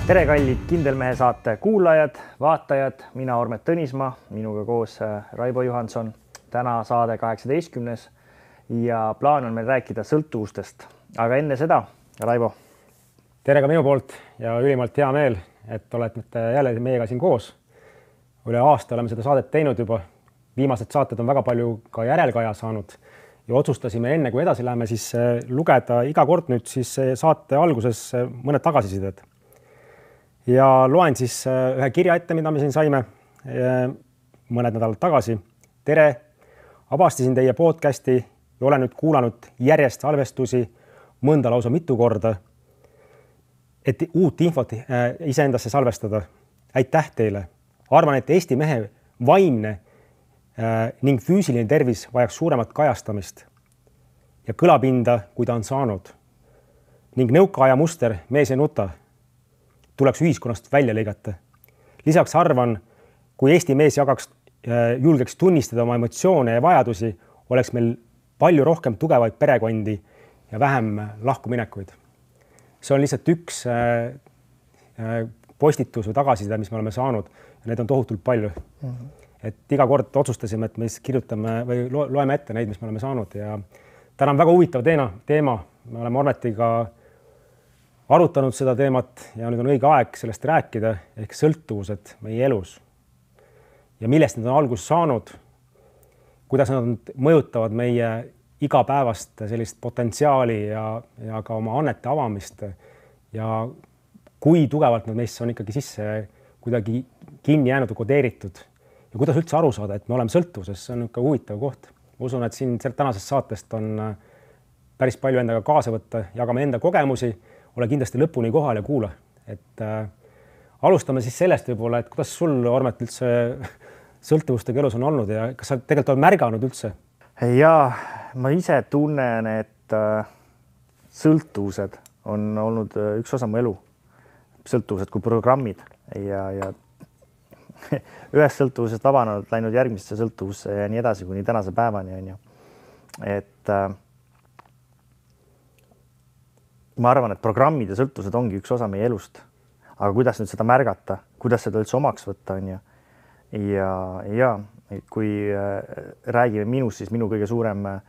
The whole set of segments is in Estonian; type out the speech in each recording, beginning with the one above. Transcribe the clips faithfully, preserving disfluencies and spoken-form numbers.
tere kallid Kindel Mehe saate kuulajad, vaatajad, mina Ormet Tõnismaa, minuga koos Raivo Johanson. Täna saade kaheksateistkümnes ja plaan on meil rääkida sõltuvustest. Aga enne seda, Raivo. Tere ka minu poolt ja ülimalt hea meel, et olete jälle meiega siin koos. Üle aasta oleme seda saadet teinud juba. Viimased saated on väga palju ka järelkaja saanud ja otsustasime enne, kui edasi läheme, siis lugeda iga kord nüüd siis saate alguses mõned tagasisided. Ja loen siis ühe kirja ette, mida me siin saime mõned nädalad tagasi. Tere, avastasin teie podcasti ja olen nüüd kuulanud järjest salvestusi mõnda lausa mitu korda, et uut infot iseendasse salvestada. Aitäh teile! Arvan, et Eesti mehe vaimne ning füüsiline tervis vajaks suuremat kajastamist ja kõlapinda, kui ta on saanud. Ning nõukaaja muster mees ei nuta tuleks ühiskonnast välja lõigata. Lisaks arvan, kui Eesti mees jagaks, julgeks tunnistada oma emotsioone ja vajadusi, oleks meil palju rohkem tugevaid perekondi ja vähem lahkuminekuid. See on lihtsalt üks postitus või tagasiside, mis me oleme saanud ja need on tohutult palju. Mm-hmm. Et iga kord otsustasime, et me kirjutame või loeme ette neid, mis me oleme saanud ja täna on väga huvitav teema. Me oleme Ormetiga arutanud seda teemat ja nüüd on õige aeg sellest rääkida ehk sõltuvused meie elus ja millest need on alguses saanud, kuidas nad mõjutavad meie igapäevast sellist potentsiaali ja, ja ka oma annete avamist ja kui tugevalt nad meisse on ikkagi sisse kuidagi kinni jäänud ja kodeeritud ja kuidas üldse aru saada, et me oleme sõltuvuses, see on ikka huvitav koht. Ma usun, et siin tänasest saatest on päris palju endaga kaasa võtta, jagame enda kogemusi, ole kindlasti lõpuni kohal ja kuula. Et äh, alustame siis sellest võib-olla, et kuidas sul, Ormet, üldse sõltuvustega elus on olnud ja kas sa tegelikult oled märganud üldse? Jaa, ma ise tunnen, et äh, sõltuvused on olnud üks osa mu elu. Sõltuvused kui programmid ja, ja ühest sõltuvusest vabananud, läinud järgmisse sõltuvusse ja nii edasi kuni tänase päevani on ju. Et äh, ma arvan, et programmid ja sõltuvused ongi üks osa meie elust. Aga kuidas nüüd seda märgata, kuidas seda üldse omaks võtta on ju. Ja, ja kui äh, räägime minust, siis minu kõige suurem äh,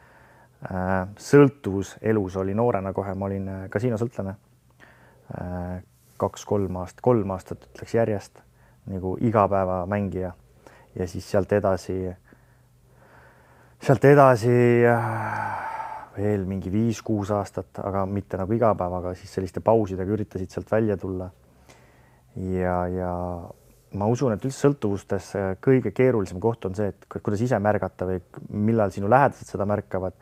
sõltuvus elus oli noorena kohe. Ma olin äh, kasiinosõltlane äh, kaks-kolm aastat, kolm aastat ütleks järjest. Nagu igapäeva mängija ja siis sealt edasi, sealt edasi veel mingi viis-kuus aastat, aga mitte nagu igapäevaga, siis selliste pausidega üritasid sealt välja tulla. Ja, ja ma usun, et üldse sõltuvustes kõige keerulisem koht on see, et kuidas ise märgata või millal sinu lähedased seda märkavad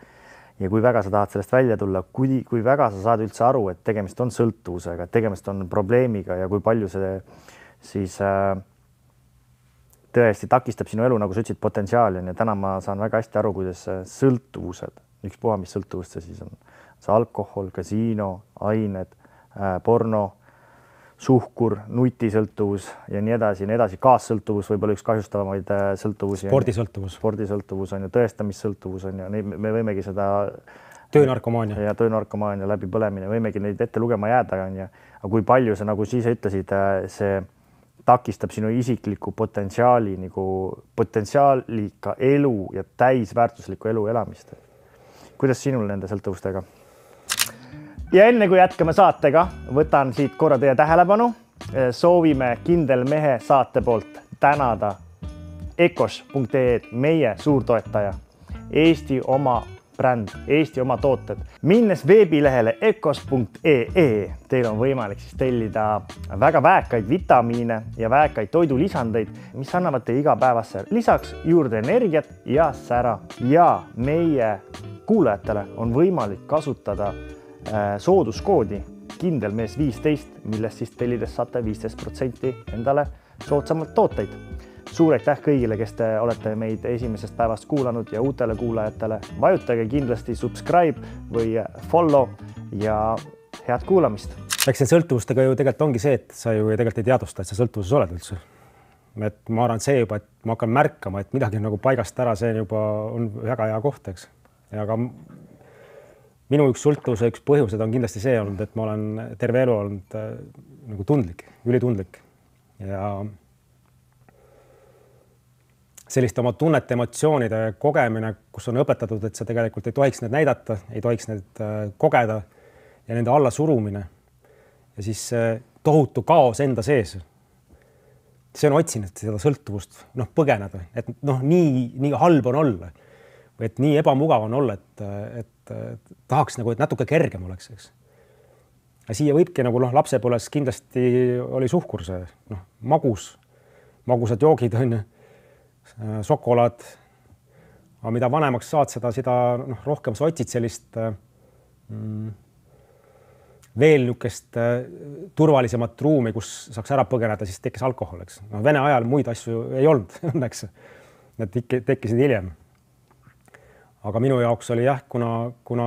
ja kui väga sa tahad sellest välja tulla, kui, kui väga sa saad üldse aru, et tegemist on sõltuvusega, et tegemist on probleemiga ja kui palju see siis äh, tõesti takistab sinu elu, nagu sa ütlesid, potentsiaali on ja täna ma saan väga hästi aru, kuidas sõltuvused, üks puha, mis sõltuvust see siis on, see alkohol, kasiino, ained, äh, porno, suhkur, nutisõltuvus ja nii edasi, nii edasi, kaassõltuvus võib-olla üks kahjustavamaid äh, sõltuvusi. Spordisõltuvus. Spordisõltuvus on ju, tõestamissõltuvus on ju, me võimegi seda töönarkomaania ja töönarkomaania läbi põlemine, võimegi neid ette lugema jääda on ja aga kui palju see, nagu siis ütlesid, see takistab sinu isikliku potentsiaali, nagu potentsiaalika elu ja täisväärtusliku elu elamist. Kuidas sinul nende sõltuvustega? Ja enne kui jätkame saatega, võtan siit korra teie tähelepanu. Soovime Kindel Mehe saate poolt tänada ecos punkt ee meie suurtoetaja, Eesti oma bränd, Eesti oma tooted. Minnes veebilehele ecos punkt ee teil on võimalik siis tellida väga väekaid vitamiine ja väekaid toidulisandeid, mis annavad teie igapäevasse lisaks juurde energiat ja sära. Ja meie kuulajatele on võimalik kasutada sooduskoodi Kindelmees viisteist, millest siis tellides saate viisteist protsenti endale soodsamalt tooteid. Suur aitäh kõigile, kes te olete meid esimesest päevast kuulanud ja uutele kuulajatele. Vajutage kindlasti subscribe või follow ja head kuulamist. Eks see sõltuvustega ju tegelikult ongi see, et sa ju tegelikult ei teadusta, et sa sõltuvuses oled üldse. Et ma arvan see juba, et ma hakkan märkama, et midagi on nagu paigast ära, see juba on väga hea koht, eks. Ja aga minu üks sõltuvuse üks põhjused on kindlasti see olnud, et ma olen terve elu olnud äh, nagu tundlik, ülitundlik ja selliste oma tunnete, emotsioonide kogemine, kus on õpetatud, et sa tegelikult ei tohiks need näidata, ei tohiks need äh, kogeda ja nende alla surumine ja siis äh, tohutu kaos enda sees. See on otsinud seda sõltuvust, noh, põgeneda, et noh, nii, nii halb on olla või et nii ebamugav on olla, et, et, et tahaks nagu, et natuke kergem oleks, eks. Ja siia võibki nagu noh, lapsepõles kindlasti oli suhkur see, noh, magus, magusad joogid on, šokolaad. Aga mida vanemaks saad, seda, seda noh, rohkem sa otsid sellist mm, veel niisugust turvalisemat ruumi, kus saaks ära põgeneda, siis tekkis alkohol, eks. No, Vene ajal muid asju ei olnud, õnneks. Need tekkisid hiljem. Aga minu jaoks oli jah, kuna, kuna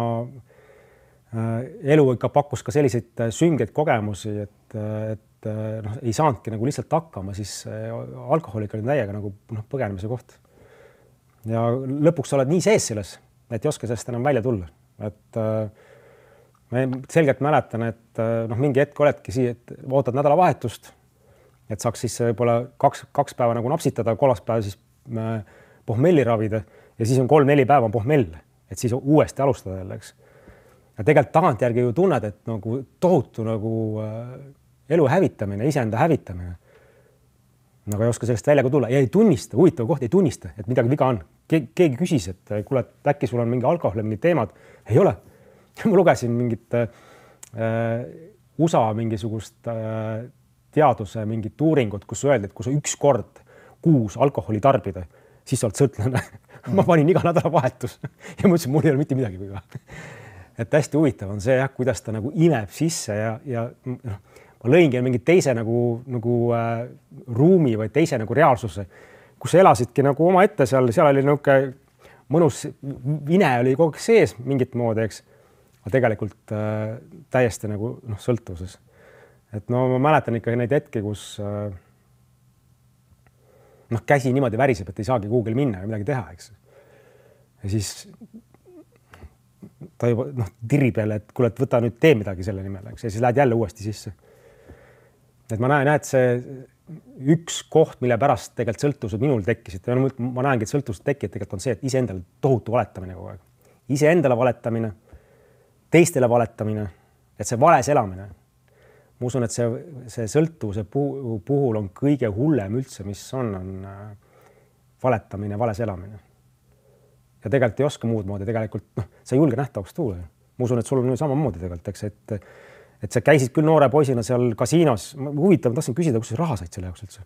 elu ikka pakkus ka selliseid süngeid kogemusi, et, et noh, ei saanudki nagu lihtsalt hakkama, siis alkoholik oli täiega nagu noh, põgenemise koht. Ja lõpuks sa oled nii sees selles, et ei oska sellest enam välja tulla. Et ma selgelt mäletan, et noh, mingi hetk oledki siia, et ootad nädalavahetust, et saaks siis võib-olla kaks, kaks päeva nagu napsitada, kolmas päev siis pohmelli ravida ja siis on kolm-neli päeva on pohmell, et siis uuesti alustada jälle, eks. Ja tegelikult tagantjärgi ju tunned, et nagu tohutu nagu elu hävitamine, iseenda hävitamine. Nagu ei oska sellest välja ka tulla ja ei tunnista, huvitav koht, ei tunnista, et midagi viga on. Ke keegi küsis, et kuule, et äkki sul on mingi alkohol, mingi teemad. Ei ole. Ma lugesin mingit äh, U S A mingisugust äh, teaduse mingit uuringut, kus öeldi, et kui sa üks kord kuus alkoholi tarbida, siis sa oled sõltlane. Ma panin iga nädala vahetus ja mõtlesin, mul ei ole mitte midagi viga. Et hästi huvitav on see, jah, kuidas ta nagu imeb sisse ja, ja noh, ma lõingi mingi teise nagu, nagu äh, ruumi või teise nagu reaalsuse, kus elasidki nagu oma ette seal, seal oli niuke mõnus vine oli kogu aeg sees mingit moodi, eks. Aga tegelikult äh, täiesti nagu noh, sõltuvuses. Et no ma mäletan ikka neid hetki, kus äh, noh, käsi niimoodi väriseb, et ei saagi kuhugil minna ja midagi teha, eks. Ja siis ta juba noh, tirib jälle, et kuule, et võta nüüd tee midagi selle nimel, eks. Ja siis lähed jälle uuesti sisse. Et ma näen, et see üks koht, mille pärast tegelikult sõltuvused minul tekkisid, ma näengi, et sõltuvused tekkisid tegelikult on see, et iseendale tohutu valetamine kogu aeg. Iseendale valetamine, teistele valetamine, et see vales elamine. Ma usun, et see, see sõltuvuse puhul on kõige hullem üldse, mis on, on valetamine, vales elamine. Ja tegelikult ei oska muud moodi, tegelikult noh, sa ei julge nähtavaks tuua. Ma usun, et sul on samamoodi tegelikult, eks, et, et sa käisid küll noore poisina seal kasiinos. Huvitav, ma tahtsin küsida, kus raha said selle jaoks üldse?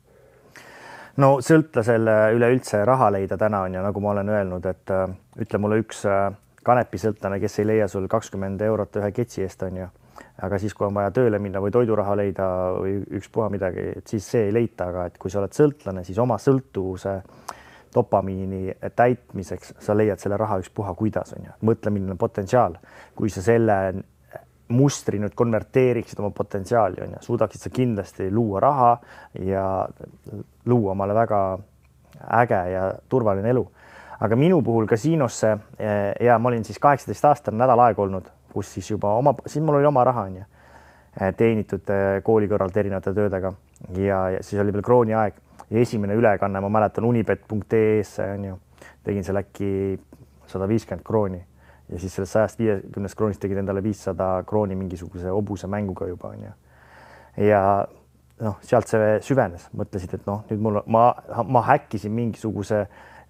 No sõltlasele üleüldse raha leida täna on ja nagu ma olen öelnud, et äh, ütle mulle üks äh, kanepisõltlane, kes ei leia sul kakskümmend eurot ühe ketsi eest on ju. Aga siis, kui on vaja tööle minna või toiduraha leida või üks puha midagi, et siis see ei leita, aga et kui sa oled sõltlane, siis oma sõltuvuse dopamiini täitmiseks sa leiad selle raha üks puha, kuidas on ju. Mõtle, milline potentsiaal, kui sa selle mustri nüüd konverteeriksid oma potentsiaali on ju, suudaksid sa kindlasti luua raha ja luua omale väga äge ja turvaline elu. Aga minu puhul kasiinosse ja ma olin siis kaheksateist aastane nädal aeg olnud, kus siis juba oma, siis mul oli oma raha on ju, teenitud kooli kõrvalt erinevate töödega ja, ja siis oli veel krooni aeg ja esimene ülekanne, ma mäletan unibet punkt ee-sse on ju, tegin seal äkki sada viiskümmend krooni ja siis sellest sajast viiekümnest kroonist tegid endale viissada krooni mingisuguse hobuse mänguga juba on ju. Ja noh, sealt see süvenes, mõtlesid, et noh, nüüd mul, ma, ma häkkisin mingisuguse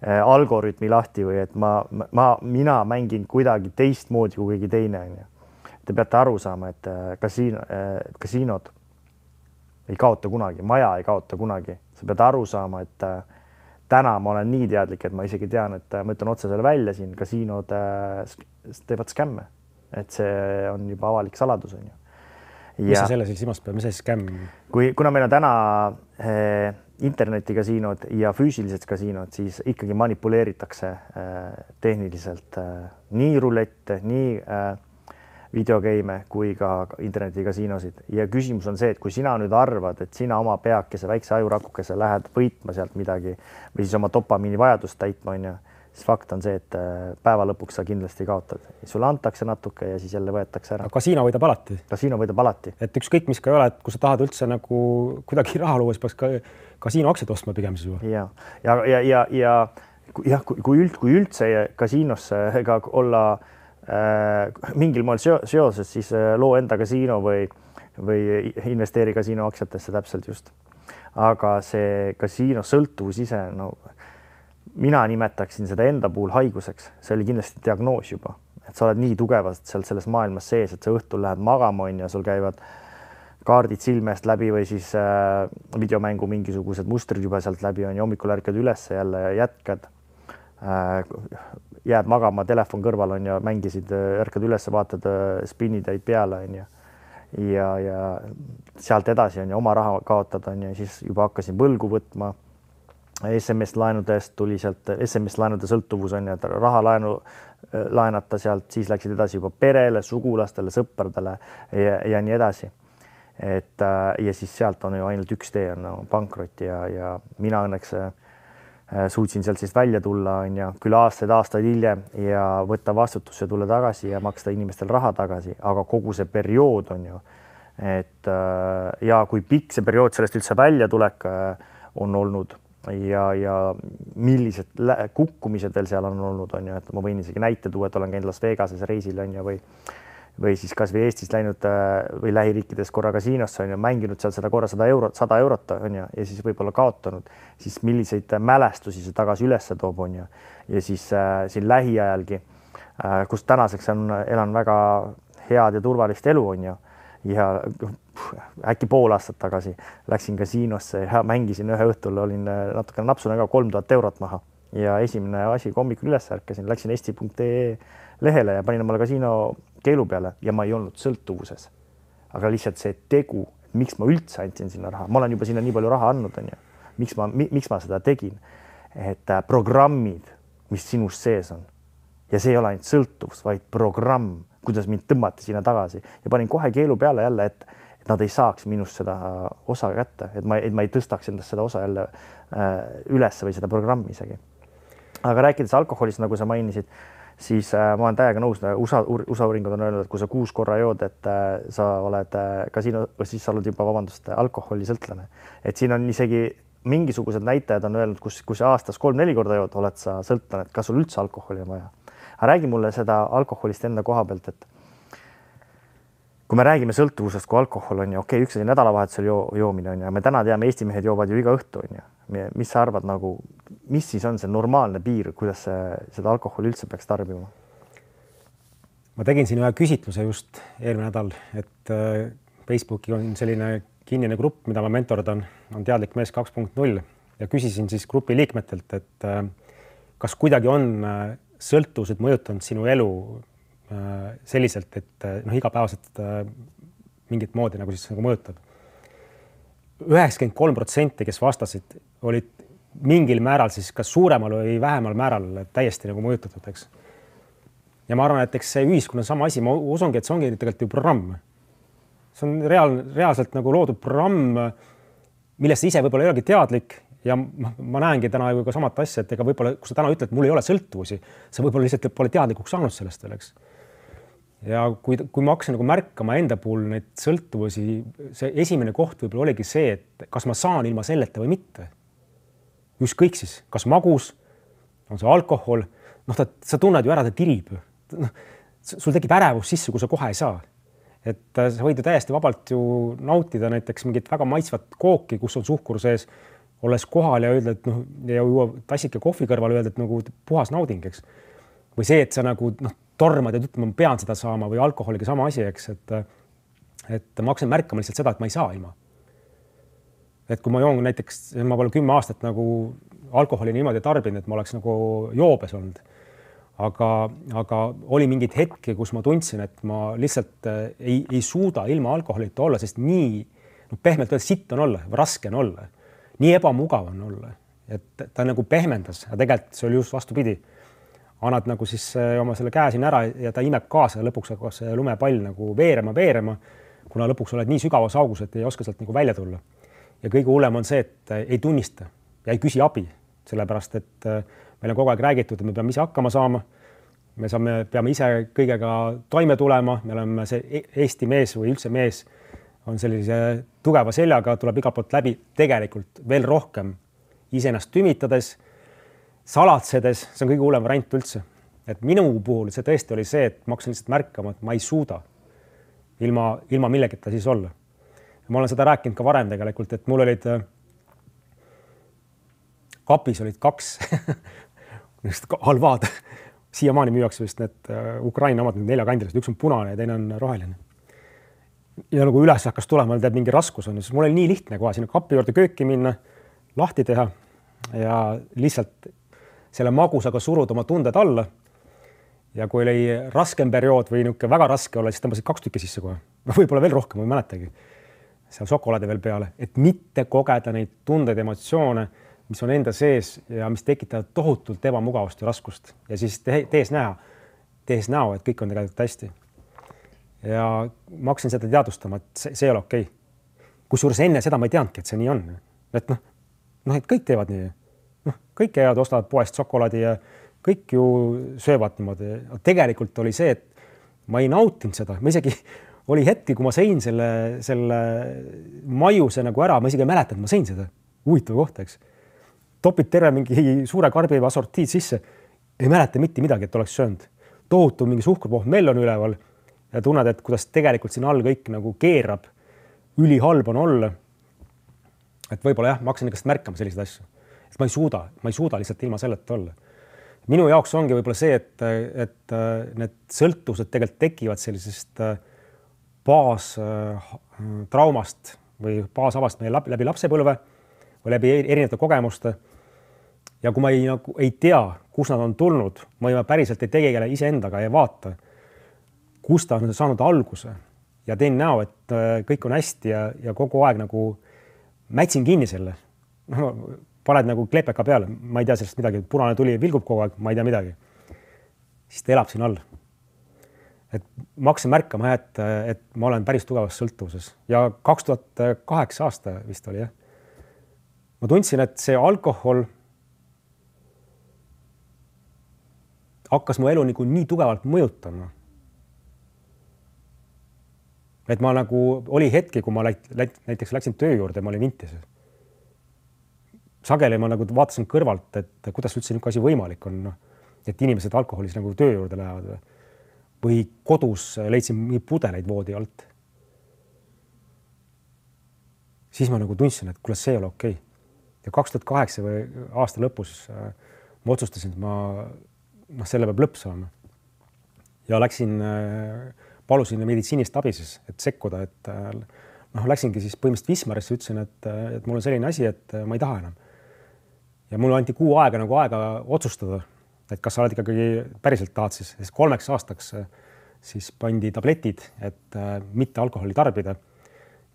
algoritmi lahti või et ma, ma, mina mängin kuidagi teistmoodi kui keegi teine on ju. Te peate aru saama, et kasiino, kasiinod ei kaota kunagi, maja ei kaota kunagi. Sa pead aru saama, et täna ma olen nii teadlik, et ma isegi tean, et ma ütlen otse selle välja siin, kasiinod teevad skämme, et see on juba avalik saladus on ju. Ja, mis sa selle siis silmas peab, mis see skämm? Kui, kuna meil on täna eh, internetikasiinod ja füüsilised kasiinod, siis ikkagi manipuleeritakse eh, tehniliselt eh, nii rulette, nii eh, videogeime kui ka internetikasiinosid. Ja küsimus on see, et kui sina nüüd arvad, et sina oma peakese, väikse ajurakukese lähed võitma sealt midagi või siis oma dopamiini vajadust täitma on ju, siis fakt on see, et päeva lõpuks sa kindlasti kaotad. Sulle antakse natuke ja siis jälle võetakse ära. Kasiino võidab alati. Kasiino võidab alati. Et ükskõik, mis ka ei ole, et kui sa tahad üldse nagu kuidagi raha luua, siis peaks ka kasiino aktsiad ostma pigem siis juba. Ja, ja, ja, ja, ja jah, kui, üld, kui üldse kasiinosse ega olla äh, mingil moel seoses, siis loo enda kasiino või, või investeeri kasiino aktsiatesse täpselt just. Aga see kasiino sõltuvus ise, no mina nimetaksin seda enda puhul haiguseks. See oli kindlasti diagnoos juba, et sa oled nii tugevalt seal selles maailmas sees, et sa õhtul lähed magama on ja sul käivad kaardid silmest läbi või siis äh, videomängu mingisugused mustrid juba sealt läbi on ja hommikul ärkad üles jälle ja jätkad. Äh, jääd magama, telefon kõrval on ja mängisid, ärkad üles, vaatad spinnid jäid peale on ja, ja, ja sealt edasi on ja oma raha kaotad on ja siis juba hakkasin võlgu võtma. S M S laenudest tuli sealt, S M S laenude sõltuvus on ja raha laenu laenata sealt, siis läksid edasi juba perele, sugulastele, sõpradele ja, ja nii edasi. Et ja siis sealt on ju ainult üks tee on no, pankrot ja, ja mina õnneks suutsin sealt siis välja tulla on ja küll aastaid, aastaid hiljem ja võtta vastutusse, tulla tagasi ja maksta inimestel raha tagasi, aga kogu see periood on ju, et ja kui pikk see periood sellest üldse välja tulek on olnud ja, ja millised kukkumised veel seal on olnud on ju, et ma võin isegi näite tuua, et olen käinud Las Vegases reisil on ju või või siis kas või Eestis läinud või lähiriikides korra kasiinosse on ju, mänginud seal seda korra sada eurot, sada eurot on ju ja siis võib-olla kaotanud, siis milliseid mälestusi see tagasi üles toob on ju ja siis äh, siin lähiajalgi, äh, kus tänaseks on, elan väga head ja turvalist elu on ju ja äkki pool aastat tagasi läksin kasiinosse ja mängisin ühe õhtul, olin natukene napsune ka kolm tuhat eurot maha ja esimene asi, kui hommikul üles ärkasin, läksin eesti punkt ee lehele ja panin omale kasiino keelu peale ja ma ei olnud sõltuvuses. Aga lihtsalt see tegu, miks ma üldse andsin sinna raha, ma olen juba sinna nii palju raha andnud, on ju. Miks ma, miks ma seda tegin? Et programmid, mis sinust sees on ja see ei ole ainult sõltuvus, vaid programm, kuidas mind tõmmati sinna tagasi ja panin kohe keelu peale jälle, et, et nad ei saaks minust seda osa kätte, et ma, et ma ei tõstaks endast seda osa jälle äh, üles või seda programmi isegi. Aga rääkides alkoholist, nagu sa mainisid, siis äh, ma olen täiega nõus, USA, USA uuringud on öelnud, et kui sa kuus korra jood, et äh, sa oled äh, kasiino, siis sa oled juba, vabandust, alkoholisõltlane. Et siin on isegi mingisugused näitajad on öelnud, kus, kus aastas kolm-neli korda jood, oled sa sõltlane, et kas sul üldse alkoholi on vaja. Aga räägi mulle seda alkoholist enda koha pealt, et kui me räägime sõltuvusest, kui alkohol on ju, okei, okay, üks asi nädalavahetusel jo, joomine on ja me täna teame, Eesti mehed joovad ju iga õhtu on ju. Mis sa arvad, nagu, mis siis on see normaalne piir, kuidas see, seda alkoholi üldse peaks tarbima? Ma tegin siin ühe küsitluse just eelmine nädal, et Facebooki on selline kinnine grupp, mida ma mentordan, on teadlik mees kaks punkt null ja küsisin siis grupi liikmetelt, et kas kuidagi on sõltuvused mõjutanud sinu elu selliselt, et noh, igapäevaselt mingit moodi nagu siis nagu mõjutab. üheksakümmend kolm protsenti, kes vastasid, olid mingil määral siis kas suuremal või vähemal määral täiesti nagu mõjutatud, eks. Ja ma arvan, et eks see ühiskonna sama asi, ma usungi, et see ongi tegelikult ju programm. See on reaal, reaalselt nagu loodud programm, millest ise võib-olla ei olegi teadlik ja ma, ma näengi täna ju ka samat asja, et ega võib-olla, kui sa täna ütled, mul ei ole sõltuvusi, sa võib-olla lihtsalt pole teadlikuks saanud sellest veel, eks. Ja kui, kui ma hakkasin nagu märkama enda puhul neid sõltuvusi, see esimene koht võib-olla oligi see, et kas ma saan ilma selleta või mitte. Ükskõik siis, kas magus, on see alkohol, noh, ta, sa tunned ju ära, ta tirib. No, sul tekib ärevus sisse, kui sa kohe ei saa. Et sa võid ju täiesti vabalt ju nautida näiteks mingit väga maitsvat kooki, kus on suhkur sees, olles kohal ja öelda, et noh, ja juua tassike kohvi kõrval öelda, et nagu puhas nauding, eks. Või see, et sa nagu noh, tormad ja ütlema, ma pean seda saama või alkoholiga sama asi, eks, et, et ma hakkasin märkama lihtsalt seda, et ma ei saa ilma. Et kui ma joon näiteks, ma pole kümme aastat nagu alkoholi niimoodi tarbinud, et ma oleks nagu joobes olnud. Aga, aga oli mingid hetki, kus ma tundsin, et ma lihtsalt ei, ei suuda ilma alkoholita olla, sest nii no, pehmelt öelda, sitt on olla, raske on olla. Nii ebamugav on olla, et ta nagu pehmendas ja tegelikult see oli just vastupidi. Annad nagu siis oma selle käe siin ära ja ta imeb kaasa ja lõpuks hakkab see lumepall nagu veerema, veerema, kuna lõpuks oled nii sügavas augus, et ei oska sealt nagu välja tulla. Ja kõige hullem on see, et ei tunnista ja ei küsi abi, sellepärast et meil on kogu aeg räägitud, et me peame ise hakkama saama. Me saame, peame ise kõigega toime tulema, me oleme see Eesti mees või üldse mees on sellise tugeva seljaga, tuleb igalt poolt läbi tegelikult veel rohkem iseennast tümitades, salatsedes, see on kõige hullem variant üldse. Et minu puhul see tõesti oli see, et ma hakkasin lihtsalt märkama, et ma ei suuda ilma, ilma millegita siis olla. Ma olen seda rääkinud ka varem tegelikult, et mul olid kapis olid kaks halvaad. Siiamaani müüakse vist need Ukraina omad neljakandilised, üks on punane ja teine on roheline. Ja nagu üles hakkas tulema, teeb mingi raskus on, siis mul oli nii lihtne kohe sinna kapi juurde kööki minna, lahti teha ja lihtsalt selle magusaga suruda oma tunded alla. Ja kui oli raskem periood või niisugune väga raske olla, siis tõmbasid kaks tükki sisse kohe. Võib-olla veel rohkem, ma ei mäletagi. Seal šokolaadi veel peale, et mitte kogeda neid tundeid, emotsioone, mis on enda sees ja mis tekitavad tohutult ebamugavust ja raskust. Ja siis tees näha, tees näo, et kõik on tegelikult hästi. Ja ma hakkasin seda teadvustama, et see, see ei ole okei. Kusjuures enne seda ma ei teadnudki, et see nii on. Et noh, noh, et kõik teevad nii. Noh, kõik käivad, ostavad poest šokolaadi ja kõik ju söövad niimoodi. Tegelikult oli see, et ma ei nautinud seda. Ma isegi oli hetki, kui ma sõin selle, selle maiuse nagu ära, ma isegi ei mäletanud, ma sõin seda huvitav kohta, eks. Topid terve mingi suure karbi assortiid sisse. Ei mäleta mitte midagi, et oleks söönud. Tohutu mingi suhkrupohmell on üleval ja tunned, et kuidas tegelikult siin all kõik nagu keerab. Ülihalb on olla. Et võib-olla jah, ma hakkasin ikast märkama selliseid asju. Et ma ei suuda, ma ei suuda lihtsalt ilma selleta olla. Minu jaoks ongi võib-olla see, et, et need sõltuvused tegelikult tekivad sellisest baas traumast või baasavast meie läbi lapsepõlve või läbi erinevate kogemuste. Ja kui ma ei, nagu, ei tea, kus nad on tulnud, ma ei päriselt ei tegele iseendaga ja vaata, kus ta on saanud alguse ja teen näo, et kõik on hästi ja, ja kogu aeg nagu mätsin kinni selle. No, paned nagu klepeka peale, ma ei tea sellest midagi, punane tuli vilgub kogu aeg, ma ei tea midagi. Siis ta elab siin all. Et ma hakkasin märkama, et, et ma olen päris tugevas sõltuvuses ja kaks tuhat kaheksa aasta vist oli, jah. Ma tundsin, et see alkohol hakkas mu elu nagu nii tugevalt mõjutama. Et ma nagu oli hetki, kui ma läit, läit, näiteks läksin töö juurde, ma olin vintis. Sageli ma nagu vaatasin kõrvalt, et kuidas üldse niisugune asi võimalik on, no, et inimesed alkoholis nagu töö juurde lähevad või, või kodus leidsin mingi pudeleid voodi alt. Siis ma nagu tundsin, et kuule, see ei ole okei. Ja kaks tuhat kaheksa või aasta lõpus ma otsustasin, et ma noh, selle peab lõpp saama. Ja läksin, palusin meditsiinist abi siis, et sekkuda, et noh, läksingi siis põhimõtteliselt Wismarisse, ütlesin, et, et mul on selline asi, et ma ei taha enam. Ja mul anti kuu aega nagu aega otsustada, et kas sa oled ikkagi päriselt tahad siis, siis kolmeks aastaks siis pandi tabletid, et mitte alkoholi tarbida.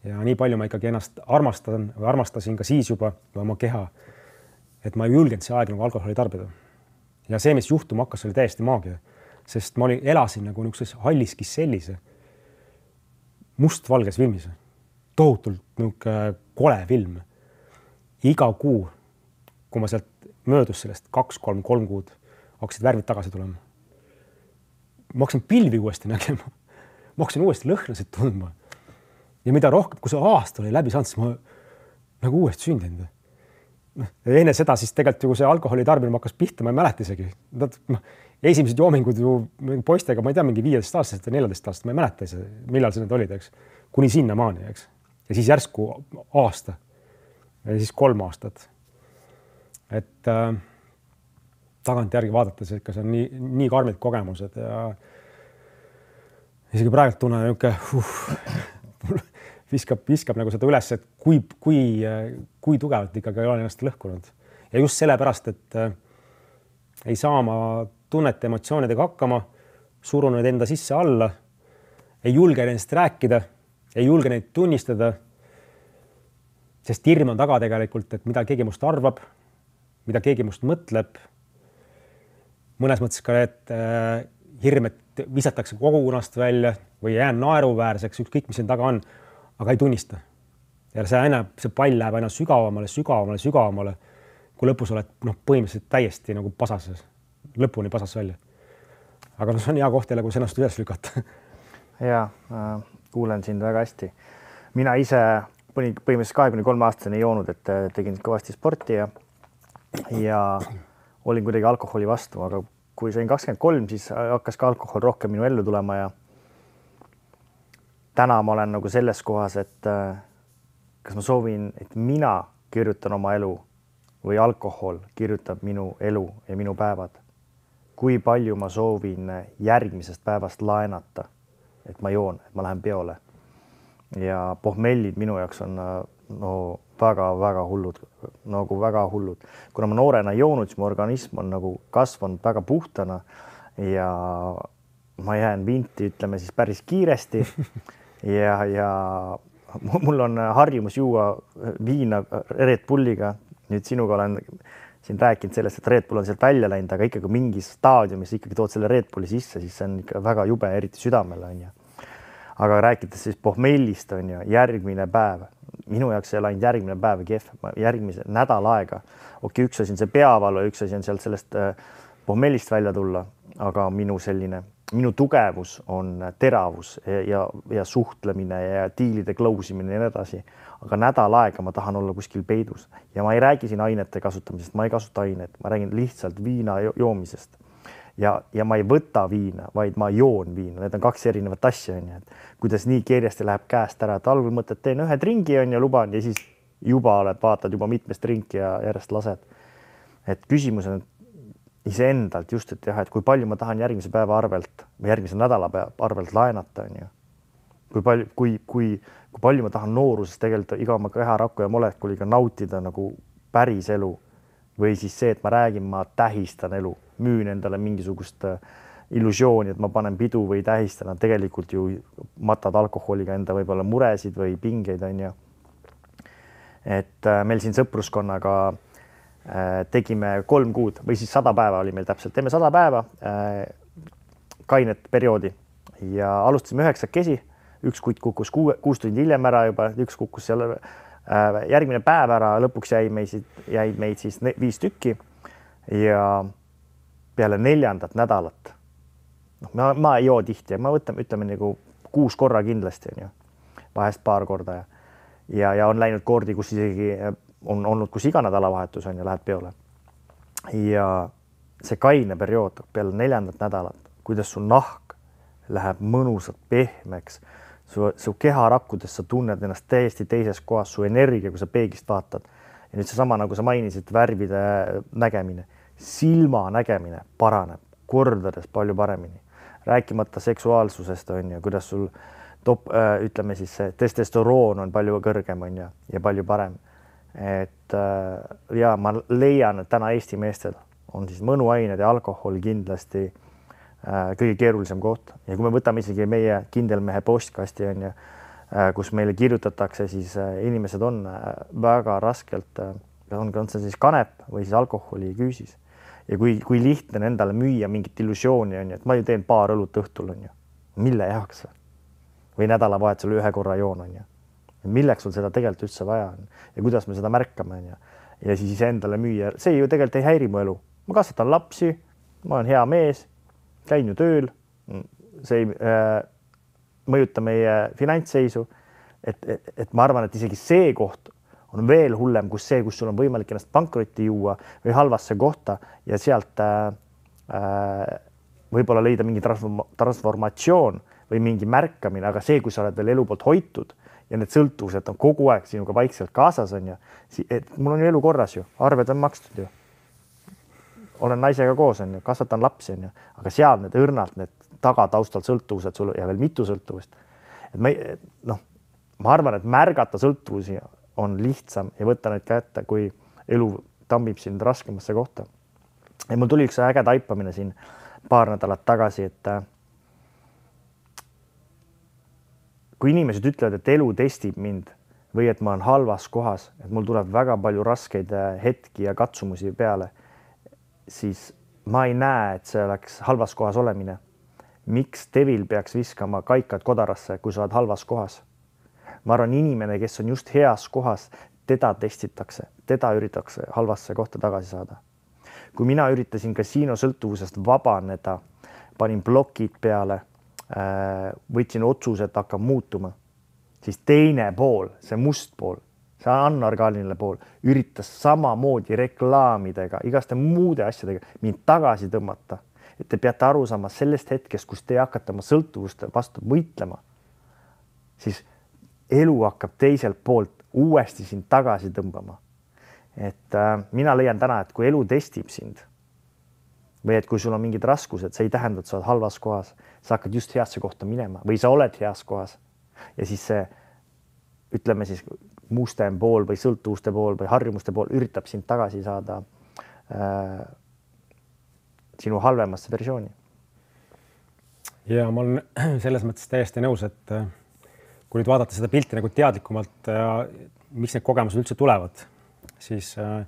Ja nii palju ma ikkagi ennast armastan või armastasin ka siis juba oma keha, et ma ei julgenud see aeg nagu alkoholi tarbida. Ja see, mis juhtuma hakkas, oli täiesti maagia, sest ma olin, elasin nagu niisuguses halliskis sellise mustvalges filmis. Tohutult niisugune kole film. Iga kuu, kui ma sealt möödus sellest kaks, kolm, kolm kuud, hakkasid värvid tagasi tulema. Ma hakkasin pilvi uuesti nägema. Ma hakkasin uuesti lõhnasid tundma. Ja mida rohkem, kui see aasta oli läbi saanud, siis ma nagu uuesti sündinud. Ja enne seda siis tegelikult ju, kui see alkoholi tarbimine hakkas pihta, ma ei mäleta isegi. Esimesed joomingud ju poistega, ma ei tea, mingi viieteist aastast või neljateist aastast, ma ei mäleta ise, millal see need olid, eks. Kuni sinna maani, eks. Ja siis järsku aasta. Ja siis kolm aastat. Et äh, tagant järgi vaadates, et kas on nii, nii karmid kogemused ja isegi praegu tunnen niuke uh, viskab, viskab nagu seda üles, et kui, kui, kui tugevalt ikkagi olen ennast lõhkunud. Ja just sellepärast, et äh, ei saa ma tunnete emotsioonidega hakkama, surunud enda sisse alla, ei julge ennast rääkida, ei julge neid tunnistada, sest hirm on taga tegelikult, et mida keegi must arvab, mida keegi must mõtleb. Mõnes mõttes ka, et äh, hirm, et visatakse kogunast välja või jään naeruväärseks, ükskõik, mis siin taga on, aga ei tunnista. Ja see, aina, see pall läheb aina sügavamale, sügavamale, sügavamale, kui lõpus oled noh, põhimõtteliselt täiesti nagu pasases, lõpuni pasas välja. Aga see on hea koht jälle, kui ennast üles lükata. Ja, äh, kuulen sind väga hästi. Mina ise põhimõtteliselt kahekümne kolme aastaseni ei joonud, et tegin kõvasti sporti ja, ja olin kuidagi alkoholi vastu, aga kui sain kakskümmend kolm, siis hakkas ka alkohol rohkem minu ellu tulema ja täna ma olen nagu selles kohas, et kas ma soovin, et mina kirjutan oma elu või alkohol kirjutab minu elu ja minu päevad. Kui palju ma soovin järgmisest päevast laenata, et ma joon, et ma lähen peole. Ja pohmellid minu jaoks on no väga-väga hullud, nagu väga hullud. Kuna ma noorena ei joonud, siis mu organism on nagu kasvanud väga puhtana ja ma jään vinti, ütleme siis päris kiiresti ja, ja mul on harjumus juua viina Red Bulliga. Nüüd sinuga olen siin rääkinud sellest, et Red Bull on sealt välja läinud, aga ikkagi mingis staadiumis ikkagi tood selle Red Bulli sisse, siis see on ikka väga jube, eriti südamele on ja. Aga rääkides siis pohmellist on ju järgmine päev. Minu jaoks ei ole ainult järgmine päev kehv, järgmise nädal aega. Okei, üks asi on see peavalu, üks asi on sealt sellest pohmellist välja tulla, aga minu selline, minu tugevus on teravus ja, ja, ja suhtlemine ja diilide klausimine ja nii edasi. Aga nädal aega ma tahan olla kuskil peidus ja ma ei räägi siin ainete kasutamisest, ma ei kasuta ainet, ma räägin lihtsalt viina joomisest. Ja, ja ma ei võta viina, vaid ma joon viina. Need on kaks erinevat asja, on, et kuidas nii kiiresti läheb käest ära, et algul mõtled, teen ühe dringi on ja luban ja siis juba oled, vaatad juba mitmest drinki ja järjest lased. Et küsimus on iseendalt just, et jah, et kui palju ma tahan järgmise päeva arvelt või järgmise nädala arvelt laenata, on ju. Kui palju, kui, kui, kui palju ma tahan nooruses tegelikult iga oma keharaku ja molekuliga nautida nagu päris elu või siis see, et ma räägin, ma tähistan elu, müün endale mingisugust illusiooni, et ma panen pidu või tähistan, tegelikult ju matad alkoholiga enda võib-olla muresid või pingeid on ju. Et meil siin sõpruskonnaga tegime kolm kuud või siis sada päeva oli meil täpselt, teeme sada päeva kainet perioodi ja alustasime üheksakesi, üks kutt kukkus kuus tundi hiljem ära juba, üks kukkus seal järgmine päev ära, lõpuks jäi meid, jäi meid siis viis tükki ja peale neljandat nädalat, noh, ma, ma ei joo tihti ja ma võtan, ütleme nagu kuus korra kindlasti on ju, vahest paar korda ja, ja, ja on läinud kordi, kus isegi on olnud, kus iga nädalavahetus on ja lähed peole. Ja see kaine periood peale neljandat nädalat, kuidas su nahk läheb mõnusalt pehmeks, Su, su keharakkudes sa tunned ennast täiesti teises kohas, su energia, kui sa peeglist vaatad. Ja nüüd see sama, nagu sa mainisid, värvide nägemine, silma nägemine paraneb kordades palju paremini. Rääkimata seksuaalsusest on ja kuidas sul top, ütleme siis see testosteroon on palju kõrgem on ja, ja palju parem. Et ja ma leian, et täna Eesti meestel on siis mõnuained ja alkohol kindlasti kõige keerulisem koht ja kui me võtame isegi meie kindelmehe postkasti on ja kus meile kirjutatakse, siis inimesed on väga raskelt, on, on see siis kanep või siis alkoholi küüsis ja kui, kui lihtne endale müüa mingit illusiooni on ja, et ma ju teen paar õlut õhtul on ju, mille jahaks või nädalavahetusel ühe korra joon on ju, milleks sul seda tegelikult üldse vaja on ja kuidas me seda märkame on ja, ja siis endale müüa, see ju tegelikult ei häiri mu elu, ma kasvatan lapsi, ma olen hea mees, käin ju tööl, see ei äh, mõjuta meie finantsseisu, et, et, et ma arvan, et isegi see koht on veel hullem, kus see, kus sul on võimalik ennast pankrotti juua või halvasse kohta ja sealt äh, äh, võib-olla leida mingi transformatsioon või mingi märkamine, aga see, kui sa oled veel elu poolt hoitud ja need sõltuvused on kogu aeg sinuga vaikselt kaasas on ju, et mul on ju elu korras ju, arved on makstud ju. Olen naisega koos on ju, kasvatan lapsi on ju, aga seal need õrnalt, need tagataustalt sõltuvused sul ja veel mitu sõltuvust. Et ma, noh, ma arvan, et märgata sõltuvusi on lihtsam ja võtta neid kätte, kui elu tambib sind raskemasse kohta. Ja mul tuli üks äge taipamine siin paar nädalat tagasi, et kui inimesed ütlevad, et elu testib mind või et ma olen halvas kohas, et mul tuleb väga palju raskeid hetki ja katsumusi peale, siis ma ei näe, et see oleks halvas kohas olemine. Miks devil peaks viskama kaikad kodarasse, kui sa oled halvas kohas? Ma arvan, inimene, kes on just heas kohas, teda testitakse, teda üritatakse halvasse kohta tagasi saada. Kui mina üritasin kasiinosõltuvusest vabaneda, panin blokid peale, võtsin otsuse, et hakkab muutuma, siis teine pool, see must pool, see anorgaaniline pool, üritas samamoodi reklaamidega, igaste muude asjadega mind tagasi tõmmata. Et te peate aru saama sellest hetkest, kus te hakkate oma sõltuvuste vastu võitlema, siis elu hakkab teiselt poolt uuesti sind tagasi tõmbama. Et äh, mina leian täna, et kui elu testib sind või et kui sul on mingid raskused, see ei tähenda, et sa oled halvas kohas, sa hakkad just heasse kohta minema või sa oled heas kohas ja siis see, ütleme siis mustem pool või sõltuvuste pool või harjumuste pool üritab sind tagasi saada äh, sinu halvemasse versiooni. Ja ma olen selles mõttes täiesti nõus, et kui nüüd vaadata seda pilti nagu teadlikumalt ja miks need kogemused üldse tulevad, siis äh,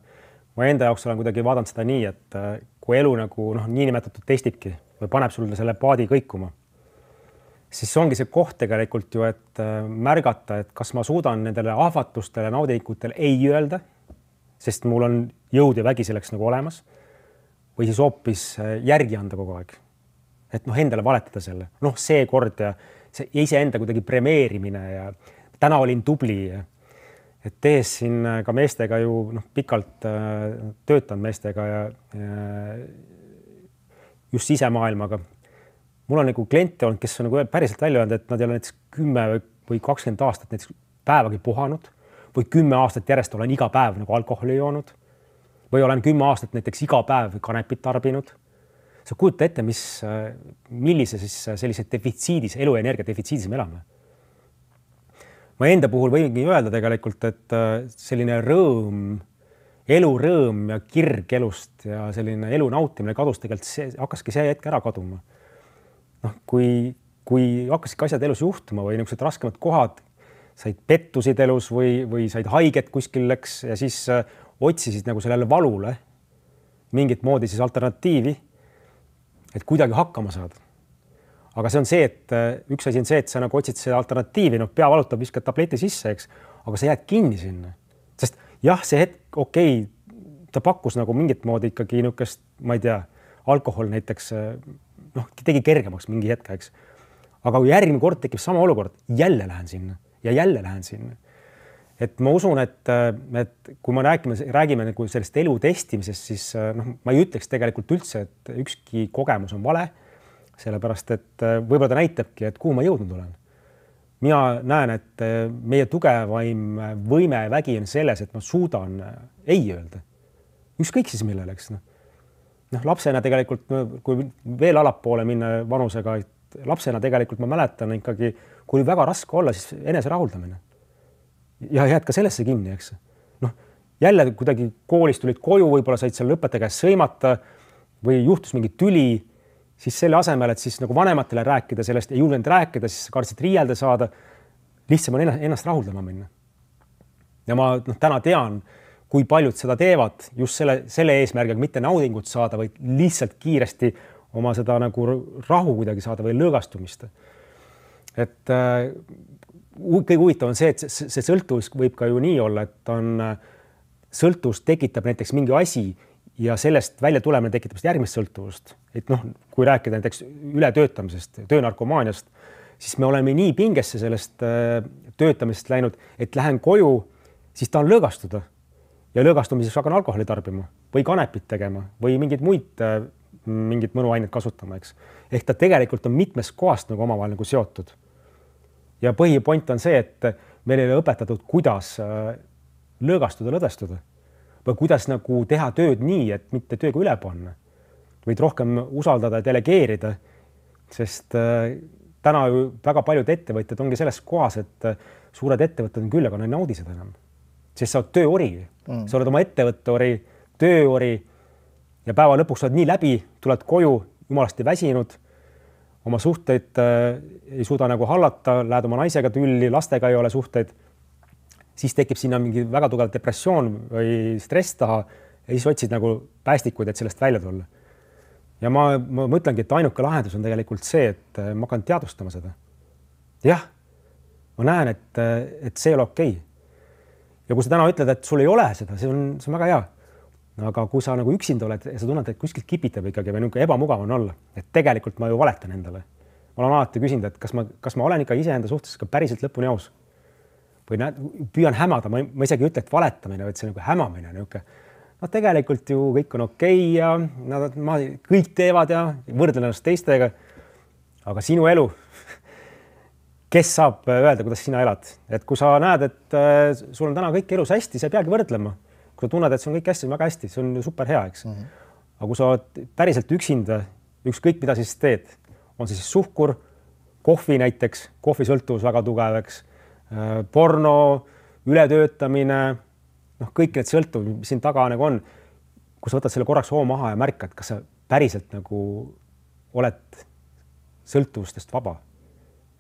ma enda jaoks olen kuidagi vaadanud seda nii, et äh, kui elu nagu noh, niinimetatud testibki või paneb sulle selle paadi kõikuma, siis ongi see koht tegelikult ju, et äh, märgata, et kas ma suudan nendele ahvatlustele, naudingutele ei öelda, sest mul on jõud ja vägi selleks nagu olemas, või siis hoopis järgi anda kogu aeg. Et noh, endale valetada selle. Noh, see kord ja see iseenda kuidagi premeerimine ja täna olin tubli. Et tees siin ka meestega ju noh, pikalt töötan meestega ja, ja just sisemaailmaga. Mul on nagu kliente olnud, kes on nagu päriselt välja öelnud, et nad ei ole näiteks kümme või kakskümmend aastat näiteks päevagi puhanud või kümme aastat järjest olen iga päev nagu alkoholi joonud või olen kümme aastat näiteks iga päev kanepit tarbinud. Sa kujuta ette, mis, millise siis sellise defitsiidis, eluenergia defitsiidis me elame. Ma enda puhul võingi öelda tegelikult, et selline rõõm, elurõõm ja kirg elust ja selline elu nautimine kadus tegelikult see, hakkaski see hetk ära kaduma. Noh, kui, kui hakkasid asjad elus juhtuma või niisugused raskemad kohad, said pettusid elus või, või said haiget kuskil läks ja siis otsisid nagu sellele valule mingit moodi siis alternatiivi, et kuidagi hakkama saada. Aga see on see, et üks asi on see, et sa nagu otsid see alternatiivi, no pea valutab, viskad tableti sisse, eks, aga sa jääd kinni sinna. Sest jah, see hetk, okei, ta pakkus nagu mingit moodi ikkagi niisugust, ma ei tea, alkohol näiteks, noh, tegi kergemaks mingi hetke, eks. Aga kui järgmine kord tekib sama olukord, jälle lähen sinna ja jälle lähen sinna. Et ma usun, et, et kui ma räägime, räägime nagu sellest elu testimisest, siis noh, ma ei ütleks tegelikult üldse, et ükski kogemus on vale, sellepärast, et võib-olla ta näitabki, et kuhu ma jõudnud olen. Mina näen, et meie tugevaim võime ja vägi on selles, et ma suudan ei öelda. Ükskõik siis millele, eks. Noh, lapsena tegelikult, kui veel alapoole minna vanusega, et lapsena tegelikult ma mäletan ikkagi, kui väga raske olla, siis enese rahuldamine. Ja jääd ka sellesse kinni, eks. Noh, jälle kuidagi koolis tulid koju, võib-olla said seal õpetaja käest sõimata või juhtus mingi tüli, siis selle asemel, et siis nagu vanematele rääkida sellest, ei julgenud rääkida, siis kartsid riielda saada, lihtsam on ennast rahuldama minna. Ja ma noh, täna tean, kui paljud seda teevad just selle, selle eesmärgiga mitte naudingut saada, vaid lihtsalt kiiresti oma seda nagu rahu kuidagi saada või lõõgastumist. Et äh, kõige huvitav on see, et see, see sõltuvus võib ka ju nii olla, et on sõltuvus tekitab näiteks mingi asi ja sellest välja tulemine tekitab järgmist sõltuvust. Et noh, kui rääkida näiteks ületöötamisest, töönarkomaaniast, siis me oleme nii pingesse sellest töötamisest läinud, et lähen koju, siis tahan lõõgastuda ja lõõgastumiseks hakkan alkoholi tarbima või kanepit tegema või mingid muid mingid mõnuained kasutama, eks. Ehk ta tegelikult on mitmes kohast nagu omavahel nagu seotud. Ja põhipoint on see, et meil ei ole õpetatud, kuidas lõõgastuda, lõdvestuda või kuidas nagu teha tööd nii, et mitte tööga üle panna, võid rohkem usaldada ja delegeerida, sest täna ju väga paljud ettevõtjad ongi selles kohas, et suured ettevõtted on küll, aga nad ei naudi seda enam, sest sa oled tööori, mm. sa oled oma ettevõtteori, tööori ja päeva lõpuks oled nii läbi, tuled koju, jumalasti väsinud, oma suhteid äh, ei suuda nagu hallata, lähed oma naisega tülli, lastega ei ole suhteid, siis tekib sinna mingi väga tugev depressioon või stress taha ja siis otsid nagu päästikuid, et sellest välja tulla. Ja ma, ma mõtlengi, et ainuke lahendus on tegelikult see, et ma hakkan teadvustama seda. Jah, ma näen, et, et see ei ole okei. ja kui sa täna ütled, et sul ei ole seda, see on, see on väga hea. Aga kui sa nagu üksinda oled ja sa tunned, et kuskilt kipitab ikkagi või niisugune ebamugav on olla, et tegelikult ma ju valetan endale. Ma olen alati küsinud, et kas ma, kas ma olen ikka iseenda suhtes ka päriselt lõpuni aus või näed, püüan hämada, ma, ma isegi ütle, et valetamine, vaid see nagu hämamine niisugune. No tegelikult ju kõik on okei okay ja nad, ma, kõik teevad ja võrdlen ennast teistega. Aga sinu elu, kes saab öelda, kuidas sina elad? Et kui sa näed, et äh, sul on täna kõik elus hästi, sa ei peagi võrdlema. Kui sa tunned, et see on kõik hästi, väga hästi, see on super hea, eks. Mm -hmm. Aga kui sa oled päriselt üksinda, ükskõik mida siis teed, on see siis suhkur, kohvi näiteks, kohvisõltuvus väga tugevaks, porno, ületöötamine, noh, kõik need sõltuv, mis siin taga nagu on. Kui sa võtad selle korraks hoo maha ja märkad, kas sa päriselt nagu oled sõltuvustest vaba.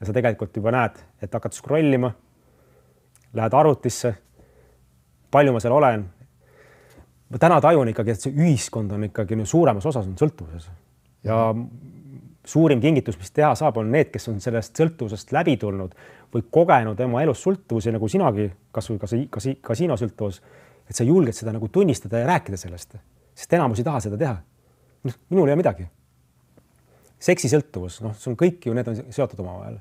Ja sa tegelikult juba näed, et hakkad scrollima, lähed arvutisse, palju ma seal olen. Ma täna tajun ikkagi, et see ühiskond on ikkagi suuremas osas on sõltuvuses. Ja suurim kingitus, mis teha saab, on need, kes on sellest sõltuvusest läbi tulnud või kogenud oma elus sõltuvusi, nagu sinagi, kas või kas, kas, kasiinosõltuvus, et sa julged seda nagu tunnistada ja rääkida sellest, sest enamus ei taha seda teha. Minul ei ole midagi. Seksisõltuvus, noh, see on kõik ju, need on seotud omavahel.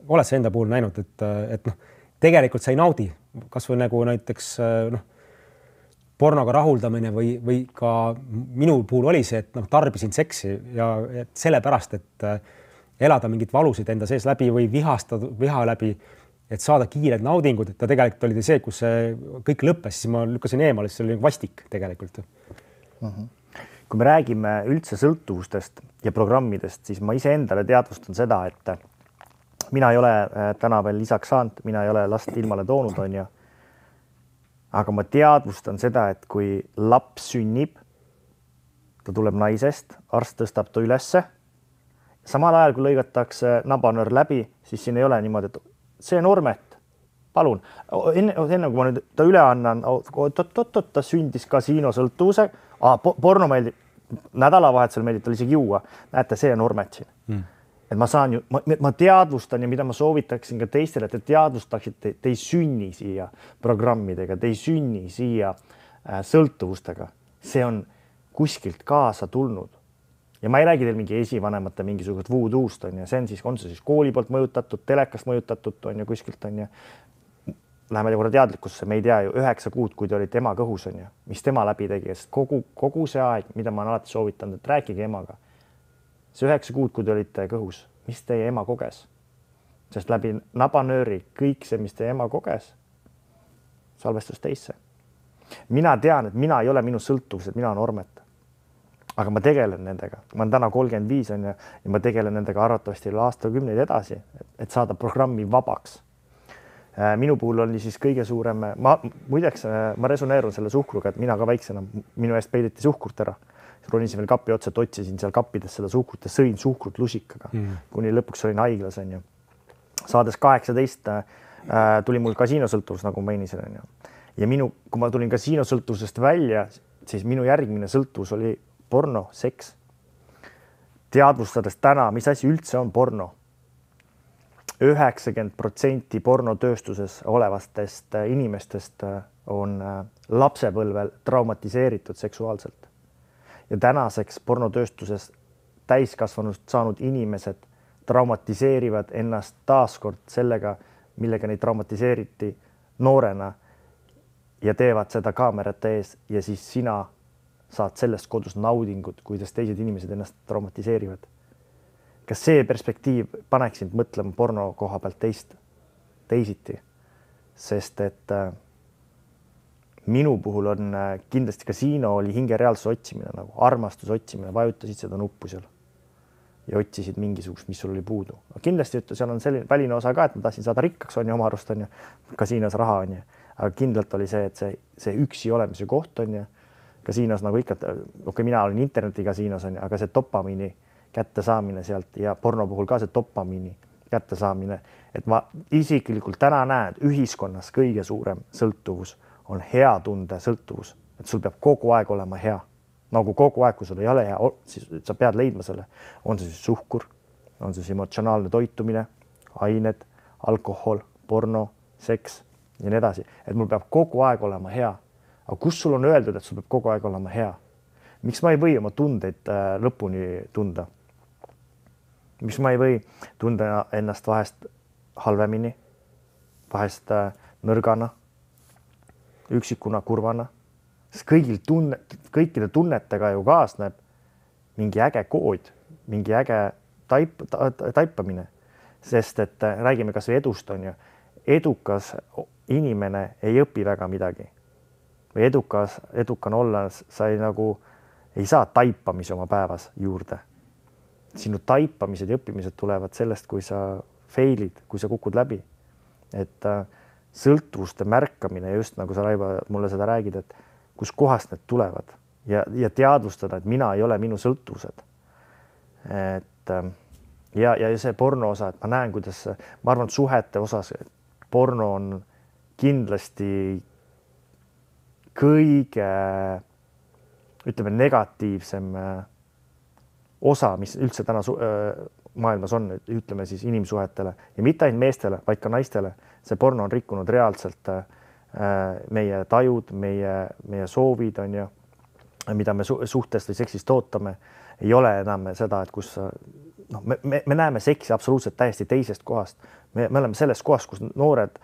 Oled sa enda puhul näinud, et, et noh, tegelikult sa ei naudi, kas või nagu näiteks noh, pornoga rahuldamine või, või ka minu puhul oli see, et noh, tarbisin seksi ja et sellepärast, et elada mingit valusid enda sees läbi või vihastada, viha läbi, et saada kiired naudingud, et ta tegelikult oli see, kus see kõik lõppes, siis ma lükkasin eemale, siis see oli vastik tegelikult. Uh-huh. Kui me räägime üldse sõltuvustest ja programmidest, siis ma ise endale teadvustan seda, et mina ei ole täna veel lisaks saanud, mina ei ole last ilmale toonud, on ju. Aga ma teadvustan seda, et kui laps sünnib, ta tuleb naisest, arst tõstab ta ülesse. Samal ajal, kui lõigatakse nabanöör läbi, siis siin ei ole niimoodi, et see on Ormet, palun. Enne, enne kui ma nüüd ta üle annan, oot-oot-oot, ta sündis kasiinosõltuvuse, porno meeldib, nädalavahetusel meeldib tal isegi juua. Näete, see on Ormet siin. Mm. Et ma saan ju, ma, ma teadvustan ja mida ma soovitaksin ka teistele, et te teadvustaksid, te, te ei sünni siia programmidega, te ei sünni siia äh, sõltuvustega. See on kuskilt kaasa tulnud. Ja ma ei räägi teil mingi esivanemate mingisugust voodoost, on ja see on siis, on see siis kooli poolt mõjutatud, telekast mõjutatud, on ja kuskilt on ja läheme korra teadlikkusse, me ei tea ju üheksa kuud, kui te olite ema kõhus, on ja mis tema läbi tegi, sest kogu, kogu see aeg, mida ma olen alati soovitanud, et rääkige emaga. See üheksa kuud, kui te olite kõhus, mis teie ema koges? Sest läbi nabanööri kõik see, mis teie ema koges, salvestus teisse. Mina tean, et mina ei ole minu sõltuvused, mina on Ormet. Aga ma tegelen nendega. Ma olen täna kolmkümmend viis on ja, ja ma tegelen nendega arvatavasti aastakümneid edasi, et, et saada programmi vabaks. Minu puhul oli siis kõige suurem, ma, muideks ma resoneerun selle suhkruga, et mina ka väiksena, minu eest peideti suhkurt ära. Ronisin veel kapi otsa, otsisin seal kappides seda suhkrut ja sõin suhkrut lusikaga, mm. kuni lõpuks olin haiglas. On ju. Saades kaheksateist äh, tuli mul kasiinosõltuvus, nagu mainisin. On ju. Ja minu, kui ma tulin kasiinosõltuvusest välja, siis minu järgmine sõltuvus oli porno, seks. Teadvustades täna, mis asi üldse on porno. üheksakümmend protsenti pornotööstuses olevastest inimestest on lapsepõlvel traumatiseeritud seksuaalselt. Ja tänaseks pornotööstuses täiskasvanust saanud inimesed traumatiseerivad ennast taaskord sellega, millega neid traumatiseeriti noorena ja teevad seda kaamerate ees ja siis sina saad sellest kodus naudingut, kuidas teised inimesed ennast traumatiseerivad. Kas see perspektiiv paneks sind mõtlema porno koha pealt teist, teisiti? Sest et äh, minu puhul on äh, kindlasti kasiino oli hingereaalsus otsimine, nagu armastus otsimine, vajutasid seda nuppu seal ja otsisid mingisugust, mis sul oli puudu. Kindlasti üttu, seal on selline väline osa ka, et ma tahtsin saada rikkaks, on ju, oma arust on ju, kasiinos raha on ju. Aga kindlalt oli see, et see, see üksi olemise koht on ju, kasiinos nagu ikka, okei, mina olin internetikasiinos on ju, aga see dopamiini kätte saamine sealt ja porno puhul ka see dopamiini kätte saamine, et ma isiklikult täna näen, ühiskonnas kõige suurem sõltuvus on hea tunde sõltuvus, et sul peab kogu aeg olema hea. Nagu kogu aeg, kui sul ei ole hea, siis sa pead leidma selle. On see siis suhkur, on see siis emotsionaalne toitumine, ained, alkohol, porno, seks, ja nii edasi, et mul peab kogu aeg olema hea. Aga kus sul on öeldud, et sul peab kogu aeg olema hea? Miks ma ei või oma tundeid lõpuni tunda? Miks ma ei või tunda ennast vahest halvemini, vahest nõrgana, üksikuna, kurvana? Sest kõigil tunne, kõikide tunnetega ju kaasneb mingi äge kood, mingi äge taip, taipamine. Sest et räägime kas või edust on ju. Edukas inimene ei õpi väga midagi. Või edukas, edukan olla, sa ei, nagu, ei saa taipamisi oma päevas juurde. Sinu taipamised ja õppimised tulevad sellest, kui sa failid, kui sa kukud läbi. Et äh, sõltuvuste märkamine, just nagu sa, Raivo, mulle seda räägid, et kus kohast need tulevad ja, ja teadvustada, et mina ei ole minu sõltuvused. Et äh, ja, ja see porno osa, et ma näen, kuidas, ma arvan, et suhete osas porno on kindlasti kõige, ütleme, negatiivsem osa, mis üldse täna maailmas on, ütleme siis inimsuhetele ja mitte ainult meestele, vaid ka naistele. See porno on rikkunud reaalselt meie tajud, meie, meie soovid on ju, mida me suhtest või seksist ootame. Ei ole enam seda, et kus no, me, me, me näeme seksi absoluutselt täiesti teisest kohast. Me, me oleme selles kohas, kus noored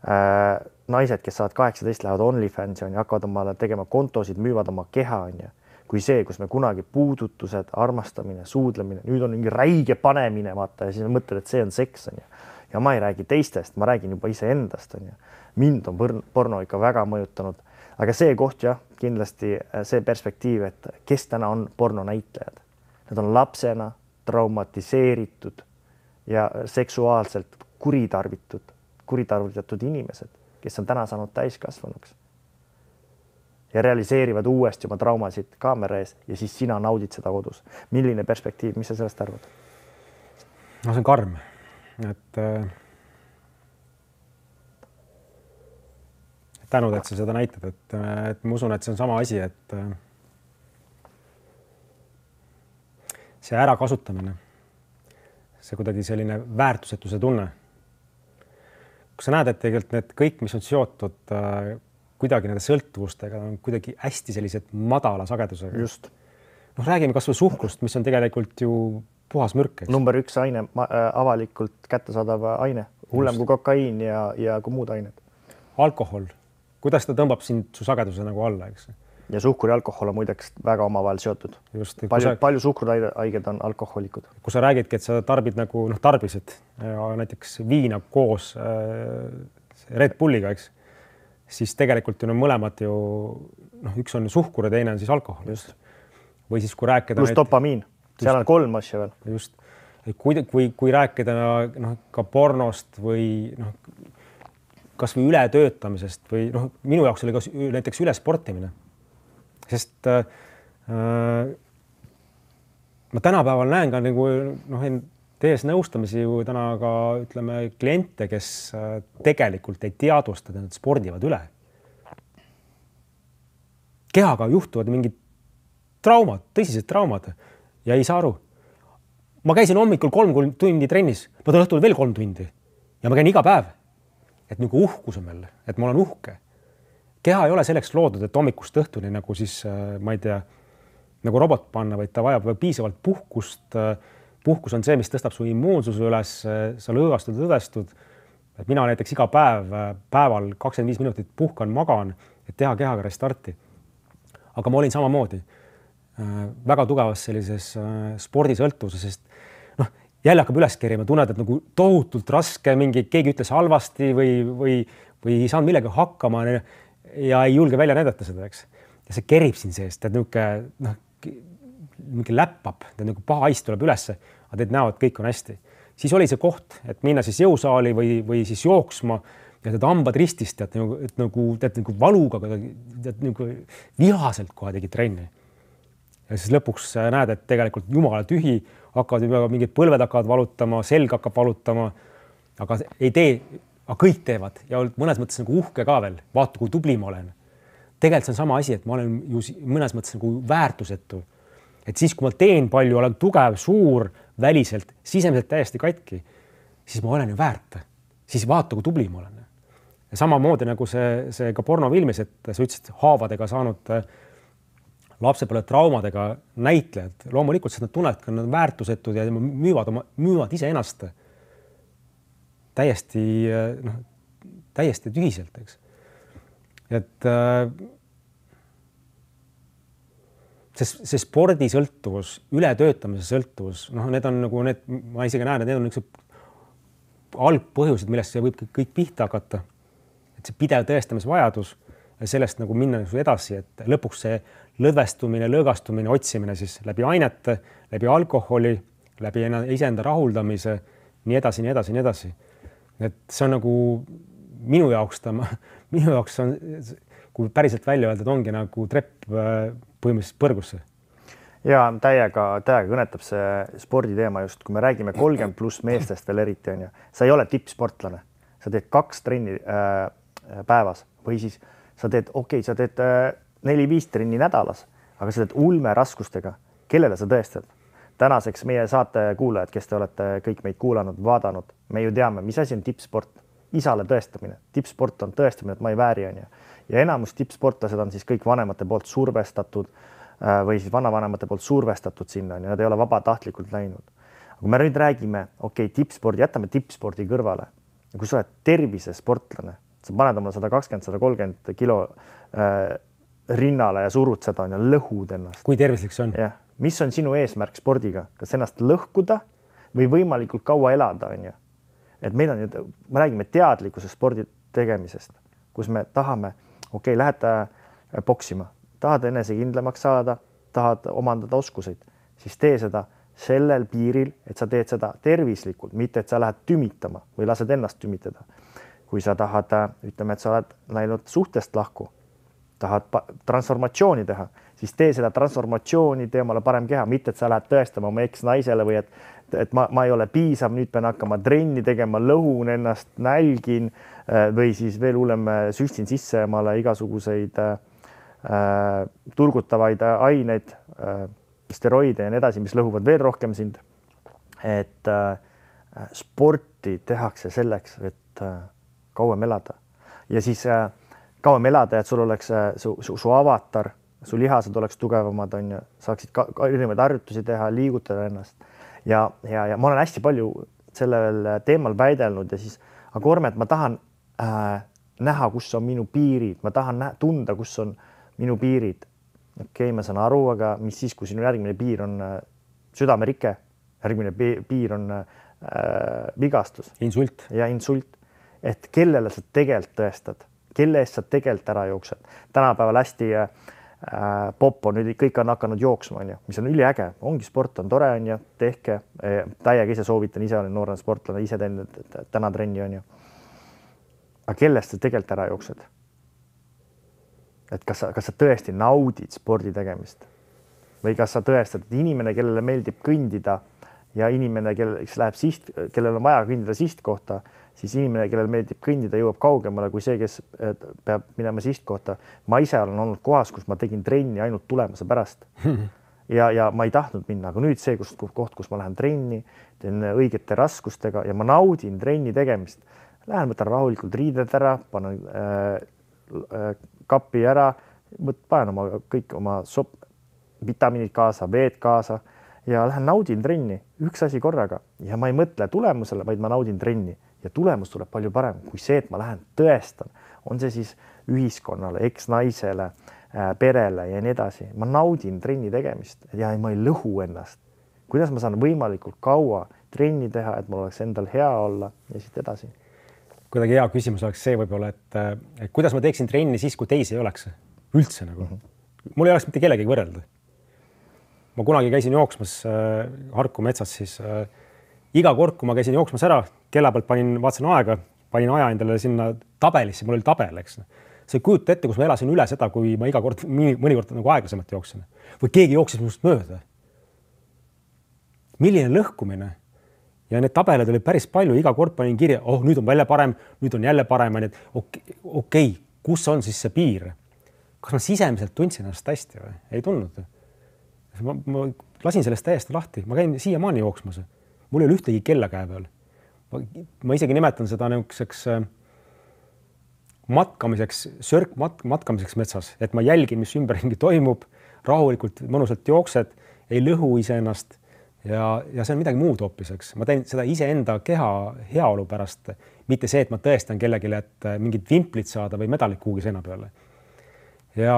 äh, naised, kes saavad kaheksateist, lähevad OnlyFansi on ja hakkavad omale tegema kontosid, müüvad oma keha on ja kui see, kus me kunagi puudutused, armastamine, suudlemine, nüüd on mingi räige panemine, vaata, ja siis mõtled, et see on seks on ja. Ja ma ei räägi teistest, ma räägin juba ise endast on ja. Mind on porno ikka väga mõjutanud, aga see koht jah, kindlasti see perspektiiv, et kes täna on porno näitlejad. Need on lapsena traumatiseeritud ja seksuaalselt kuritarvitud, kuritarvitatud inimesed, kes on täna saanud täiskasvanuks. Ja realiseerivad uuesti oma traumasid kaamera ees ja siis sina naudid seda kodus. Milline perspektiiv, mis sa sellest arvad? No see on karm, et äh, tänud, et sa seda näitad, et, et ma usun, et see on sama asi, et äh, see ärakasutamine, see kuidagi selline väärtusetuse tunne. Kui sa näed, et tegelikult need kõik, mis on seotud äh, kuidagi nende sõltuvustega on kuidagi hästi sellised madala sagedusega. Just. noh, räägime kas või suhkrust, mis on tegelikult ju puhas mürk. Number üks aine, avalikult kättesaadav aine, hullem kui kokaiin ja, ja kui muud ained. Alkohol, kuidas ta tõmbab sind su sageduse nagu alla, eks? Ja suhkur ja alkohol on muideks väga omavahel seotud. Just, palju, sa, palju suhkruhaiged on alkoholikud. Kui sa räägidki, et sa tarbid nagu noh, tarbisid ja näiteks viina koos äh, Red Bulliga, eks, siis tegelikult on mõlemad ju, noh, üks on suhkur ja teine on siis alkohol. Just. Või siis kui rääkida... Plus dopamiin, seal on kolm asja veel. Just. Kui, kui, kui rääkida noh, ka pornost või noh, kas või ületöötamisest või noh, minu jaoks oli ka näiteks ülesportimine. Sest äh, ma tänapäeval näen ka nagu, noh, tees nõustamisi ju täna ka ütleme kliente, kes tegelikult ei teadvusta, et nad spordivad üle. Kehaga juhtuvad mingid traumad, tõsised traumad ja ei saa aru. Ma käisin hommikul kolm tundi trennis, ma tulen õhtul veel kolm tundi ja ma käin iga päev. Et nagu uhkus on meil, et ma olen uhke. Keha ei ole selleks loodud, et hommikust õhtuni nagu siis, ma ei tea, nagu robot panna, vaid ta vajab piisavalt puhkust. Puhkus on see, mis tõstab su immuunsuse üles, sa lõõgastud, õdestud. Et mina näiteks iga päev, päeval kakskümmend viis minutit puhkan, magan, et teha kehaga restarti. Aga ma olin samamoodi väga tugevas sellises spordisõltuvuses, sest noh, jälle hakkab üles kerima, tunned, et nagu tohutult raske, mingi keegi ütles halvasti või, või, või ei saanud millega hakkama ja ei julge välja näidata seda, eks. Ja see kerib siin seest, et niisugune, noh, mingi läppab, nagu paha haist tuleb ülesse, aga teid näevad, kõik on hästi. Siis oli see koht, et minna siis jõusaali või, või siis jooksma ja tead hambad ristist, tead nagu, et nagu, tead nagu valuga, tead nagu vihaselt kohe tegid trenni. Ja siis lõpuks näed, et tegelikult jumala tühi, hakkavad juba mingid põlved hakkavad valutama, selg hakkab valutama, aga ei tee, aga kõik teevad ja mõnes mõttes nagu uhke ka veel, vaata, kui tubli ma olen. Tegelikult see on sama asi, et ma olen ju mõnes mõttes nagu väärtusetu. Et siis, kui ma teen palju, olen tugev, suur, väliselt, sisemiselt täiesti katki, siis ma olen ju väärt. Siis vaata, kui tubli ma olen. ja samamoodi nagu see, see ka pornofilmis, et sa ütlesid haavadega saanud lapsepõlve traumadega näitlejad, loomulikult nad tunnevad, et nad on väärtusetud ja müüvad, oma, müüvad ise ennast täiesti, noh, täiesti tühiselt, eks. Et see, see spordisõltuvus, ületöötamise sõltuvus, noh, need on nagu need, ma isegi näen, et need on üks algpõhjused, millest see võib kõik pihta hakata. Et see pidev tõestamisvajadus ja sellest nagu minna edasi, et lõpuks see lõdvestumine, lõõgastumine, otsimine siis läbi ainete, läbi alkoholi, läbi iseenda rahuldamise, nii edasi, nii edasi, nii edasi. Et see on nagu minu jaoks, ta, minu jaoks on, kui päriselt välja öelda, et ongi nagu trepp põhimõtteliselt põrgusse. Ja täiega, täiega kõnetab see sporditeema just, kui me räägime kolmkümmend pluss meestest veel eriti on ja sa ei ole tippsportlane, sa teed kaks trenni äh, päevas või siis sa teed, okei, okay, sa teed äh, neli-viis trenni nädalas, aga sa teed ulme raskustega. Kellele sa tõestad? Tänaseks meie saate kuulajad, kes te olete kõik meid kuulanud, vaadanud, me ju teame, mis asi on tippsport. Isale tõestamine. Tippsport on tõestamine, et ma ei vääri on ja. ja enamus tippsportlased on siis kõik vanemate poolt survestatud äh, või siis vanavanemate poolt survestatud sinna ja nad ei ole vabatahtlikult läinud. Kui me nüüd räägime, okei, okay, tippspordi, jätame tippspordi kõrvale. Kui sa oled tervisesportlane, sa paned oma sada kakskümmend, sada kolmkümmend kilo äh, rinnale ja surud seda on ja lõhud ennast. Kui tervislik see on? Ja. Mis on sinu eesmärk spordiga? Kas ennast lõhkuda või võimalikult kaua elada on ju? Et meil on, me räägime teadlikkuse spordi tegemisest, kus me tahame, okei, okay, lähed boksima, tahad enesekindlamaks saada, tahad omandada oskuseid, siis tee seda sellel piiril, et sa teed seda tervislikult, mitte et sa lähed tümitama või lased ennast tümitada. Kui sa tahad, ütleme, et sa oled läinud suhtest lahku, tahad transformatsiooni teha, siis tee seda transformatsiooni, tee omale parem keha, mitte et sa lähed tõestama oma eks-naisele või et, et ma, ma ei ole piisav, nüüd pean hakkama trenni tegema, lõhun ennast, nälgin või siis veel hullem süstin sisse omale igasuguseid äh, turgutavaid aineid, äh, steroide ja nii edasi, mis lõhuvad veel rohkem sind. Et äh, sporti tehakse selleks, et äh, kauem elada ja siis äh, kauem elada, et sul oleks su, su, su avatar, su lihased oleks tugevamad, on ju, saaksid ka, ka erinevaid harjutusi teha, liigutada ennast. Ja, ja, ja ma olen hästi palju sellel teemal väidelnud ja siis, aga Orme, et ma tahan äh, näha, kus on minu piirid, ma tahan näha, tunda, kus on minu piirid. Okei, okay, ma saan aru, aga mis siis, kui sinu järgmine piir on äh, südamerike, järgmine piir on äh, vigastus. Insult. Ja insult. Et kellele sa tegelikult tõestad, kelle eest sa tegelikult ära jooksed. Tänapäeval hästi äh, pop on, nüüd kõik on hakanud jooksma, on ju, mis on üliäge, ongi sport on tore, on ju, tehke, täiega ise soovitan, ise olen noorena sportlane, ise teen täna trenni, on ju. Aga kellest sa tegelikult ära jooksed? Et kas sa, kas sa tõesti naudid spordi tegemist? Või kas sa tõestad, et inimene, kellele meeldib kõndida ja inimene, kes läheb siht, kellel on vaja kõndida sihtkohta, siis inimene, kellel meeldib kõndida, jõuab kaugemale kui see, kes peab minema sihtkohta. Ma ise olen olnud kohas, kus ma tegin trenni ainult tulemuse pärast. Ja, ja ma ei tahtnud minna, aga nüüd see kus, koht, kus ma lähen trenni, teen õigete raskustega ja ma naudin trenni tegemist. Lähen, võtan rahulikult riided ära, panen äh, äh, kapi ära, panen oma, kõik oma sop, vitamiinid kaasa, veed kaasa ja lähen naudin trenni üks asi korraga ja ma ei mõtle tulemusele, vaid ma naudin trenni. Ja tulemus tuleb palju parem kui see, et ma lähen tõestan. On see siis ühiskonnale, eks-naisele, perele ja nii edasi. Ma naudin trenni tegemist ja ma ei lõhu ennast. Kuidas ma saan võimalikult kaua trenni teha, et mul oleks endal hea olla ja siit edasi? Kuidagi hea küsimus oleks see võib-olla, et, et kuidas ma teeksin trenni siis, kui teisi ei oleks? Üldse nagu. Mm -hmm. Mul ei oleks mitte kellegi võrrelda. Ma kunagi käisin jooksmas äh, Harku metsas, siis äh, iga kord, kui ma käisin jooksmas ära, kella pealt panin, vaatasin aega, panin aja endale sinna tabelisse, mul oli tabel, eks. See kujuta ette, kus ma elasin üle seda, kui ma iga kord, mõnikord nagu aeglasemalt jooksin. Või keegi jooksis minust mööda. Milline lõhkumine? Ja need tabelid oli päris palju, iga kord panin kirja, oh, nüüd on välja parem, nüüd on jälle parem, et okei, okay, kus on siis see piir? Kas ma sisemiselt tundsin ennast hästi või? Ei tundnud. Ma, ma lasin sellest täiesti lahti, ma käin siiamaani jooksmas. Mul ei ole ühtegi kella käe peal. Ma, ma isegi nimetan seda niisuguseks matkamiseks, sörk mat, matkamiseks metsas, et ma jälgin, mis ümberringi toimub, rahulikult, mõnusalt jooksed, ei lõhu iseennast ja, ja see on midagi muud hoopis, eks. Ma teen seda iseenda keha heaolu pärast, mitte see, et ma tõestan kellelegi, et mingid vimplit saada või medalit kuhugi seina peale. Ja